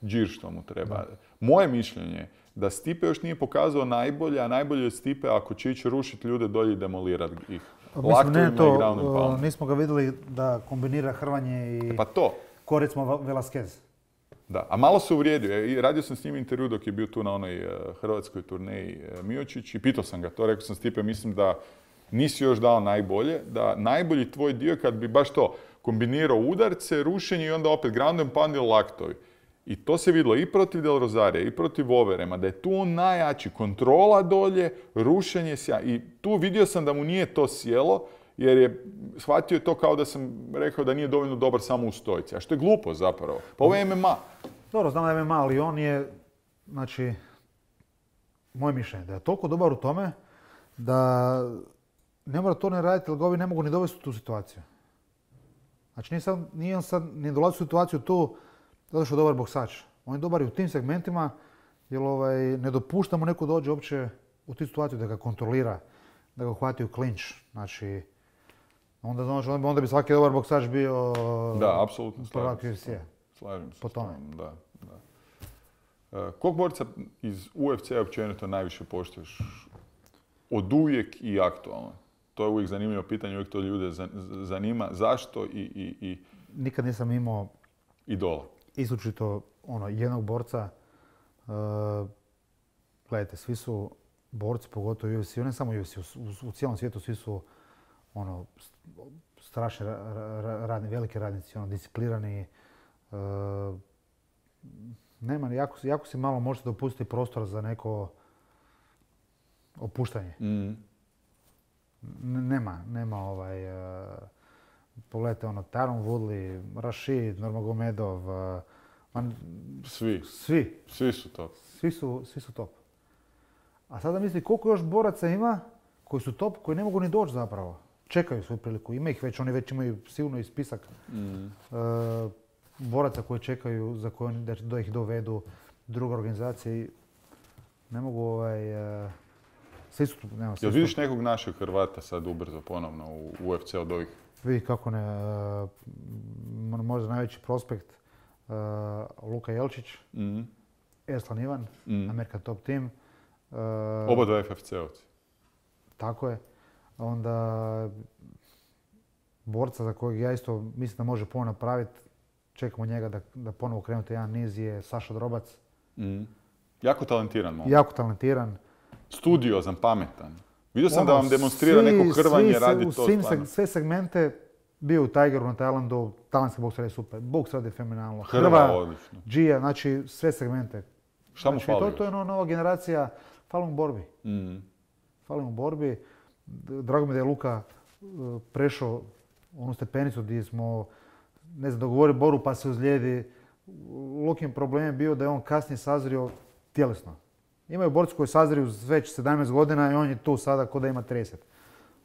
džir što mu treba. Moje mišljenje da Stipe još nije pokazao najbolje, a najbolje je Stipe ako će ići rušiti ljude dolje i demolirati ih. Nismo ga vidjeli da kombinira hrvanje i... Pa to. Ko recimo Velasquez. Da, a malo se uvrijedio. Radio sam s njim intervju dok je bio tu na onoj hrvatskoj turneji Miocić i pitao sam ga to. Rekao sam Stipe, mislim da nisi još dao najbolje, da najbolji tvoj dio kad bi baš to kombinirao udarce, rušenje i onda opet ground and pound ili laktovi. I to se vidjelo i protiv Del Rosarija, i protiv Overema, da je tu on najjači. Kontrola dolje, rušenje i tu vidio sam da mu nije to sjelo, jer je shvatio to kao da sam rekao da nije dovoljno dobar samo u stojici. A što je glupo zapravo. Pa ovo je MMA. Dobro, znam da je MMA, ali on je, znači, moje mišljenje, da je toliko dobar u tome da ne mora to ne raditi, jer ga ovi ne mogu ni dovesti u tu situaciju. Znači, nije on sad ni dolazi u situaciju tu zato što je dobar boksač. On je dobar i u tim segmentima, jer ne dopuštamo neko dođe uopće u tu situaciju da ga kontrolira, da ga uhvati u klinč. Znači, onda bi svaki dobar boksač bio da, apsolutno prvak UFC-a. Slažem se. Po tome. Da. Kog borca iz UFC-a općenito najviše poštuješ? Od uvijek i aktualno. To je uvijek zanimljivo pitanje, uvijek to ljude zanima. Zašto i Nikad nisam imao idola. Izričito jednog borca. Gledajte, svi su borci, pogotovo UFC, ne samo UFC, u cijelom svijetu svi su strašni veliki radnici, disciplinirani. Nema, jako si malo možete dopustiti prostor za neko opuštanje. Nema pogledajte Tyron Woodley, Rashid, Nurmagomedov, Svi su top. Svi su top. A sada misli koliko još boraca ima koji su top, koji ne mogu ni doći zapravo. Čekaju svoju priliku, ima ih već, oni već imaju sigurno i spisak boraca koji čekaju za koje da ih dovedu druge organizacije. Ne mogu svi su tu. Jel vidiš nekog našeg Hrvata sad ubrzo ponovno u UFC od ovih? Vidi kako ne, možda najveći prospekt Luka Jelčić, Erslan Ivan, American Top Team. Oba dva FFC-ovci. Tako je. Onda borca za kojeg ja isto mislim da može puno napraviti, čekamo njega da ponovo krenuti jedan niz, je Saša Drobac. Jako talentiran moment. Jako talentiran. Studiozan, pametan. Vidio sam da vam demonstrira neko hrvanje, radi to stvarno. Sve segmente, bio u Tigeru na Tajlandu, tajlandski boks radi super, boks radi fenomenalno. Hrva odlično. Džija, znači sve segmente. Šta mu fali? To je nova generacija, fali mu borbi. Fali mu borbi. Drago mi da je Luka prešao onu stepenicu gdje smo, dogovorili boru pa se ozlijedi. Lukin problem je bio da je on kasnije sazrio tjelesno. Imaju borci koji sazriju već 17 godina i on je tu sada ko da ima 30.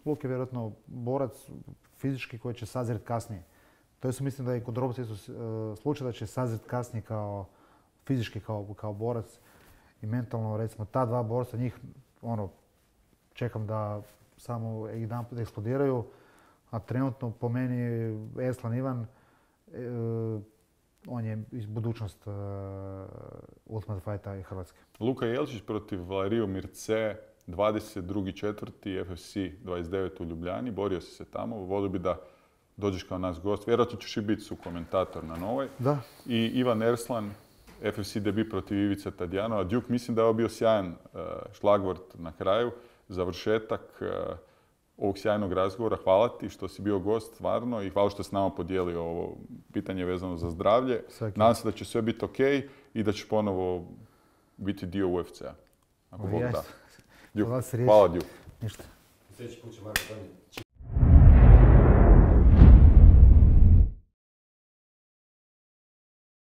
Luk je vjerojatno borac fizički koji će sazreti kasnije. To je mislim da je kod Drobca isto slučaj da će sazreti kasnije kao fizički kao borac i mentalno, recimo ta dva borca, njih čekam da samo jedanput eksplodiraju, a trenutno po meni Erslan Ivan, on je iz budućnost Ultimate Fighta i Hrvatske. Luka Jelčić protiv Valeriju Mirce, 22.4. FFC 29 u Ljubljani. Borio si se tamo. Volio bi da dođeš kao naš gost. Vjerojatno ćeš i biti sukomentator na Novoj. Da. I Ivan Erslan, FFC debut protiv Ivice Tadjanova. Duke, mislim da je ovo bio sjajan šlagvort na kraju. Završetak ovog sjajnog razgovora. Hvala ti što si bio gost stvarno i hvala što si nama podijelio ovo pitanje vezano za zdravlje. Nadam se da će sve biti ok i da će ponovo biti dio UFC-a. Ako Bog da. Duke. Hvala Duke. Ništa. Sljedeći put će Marko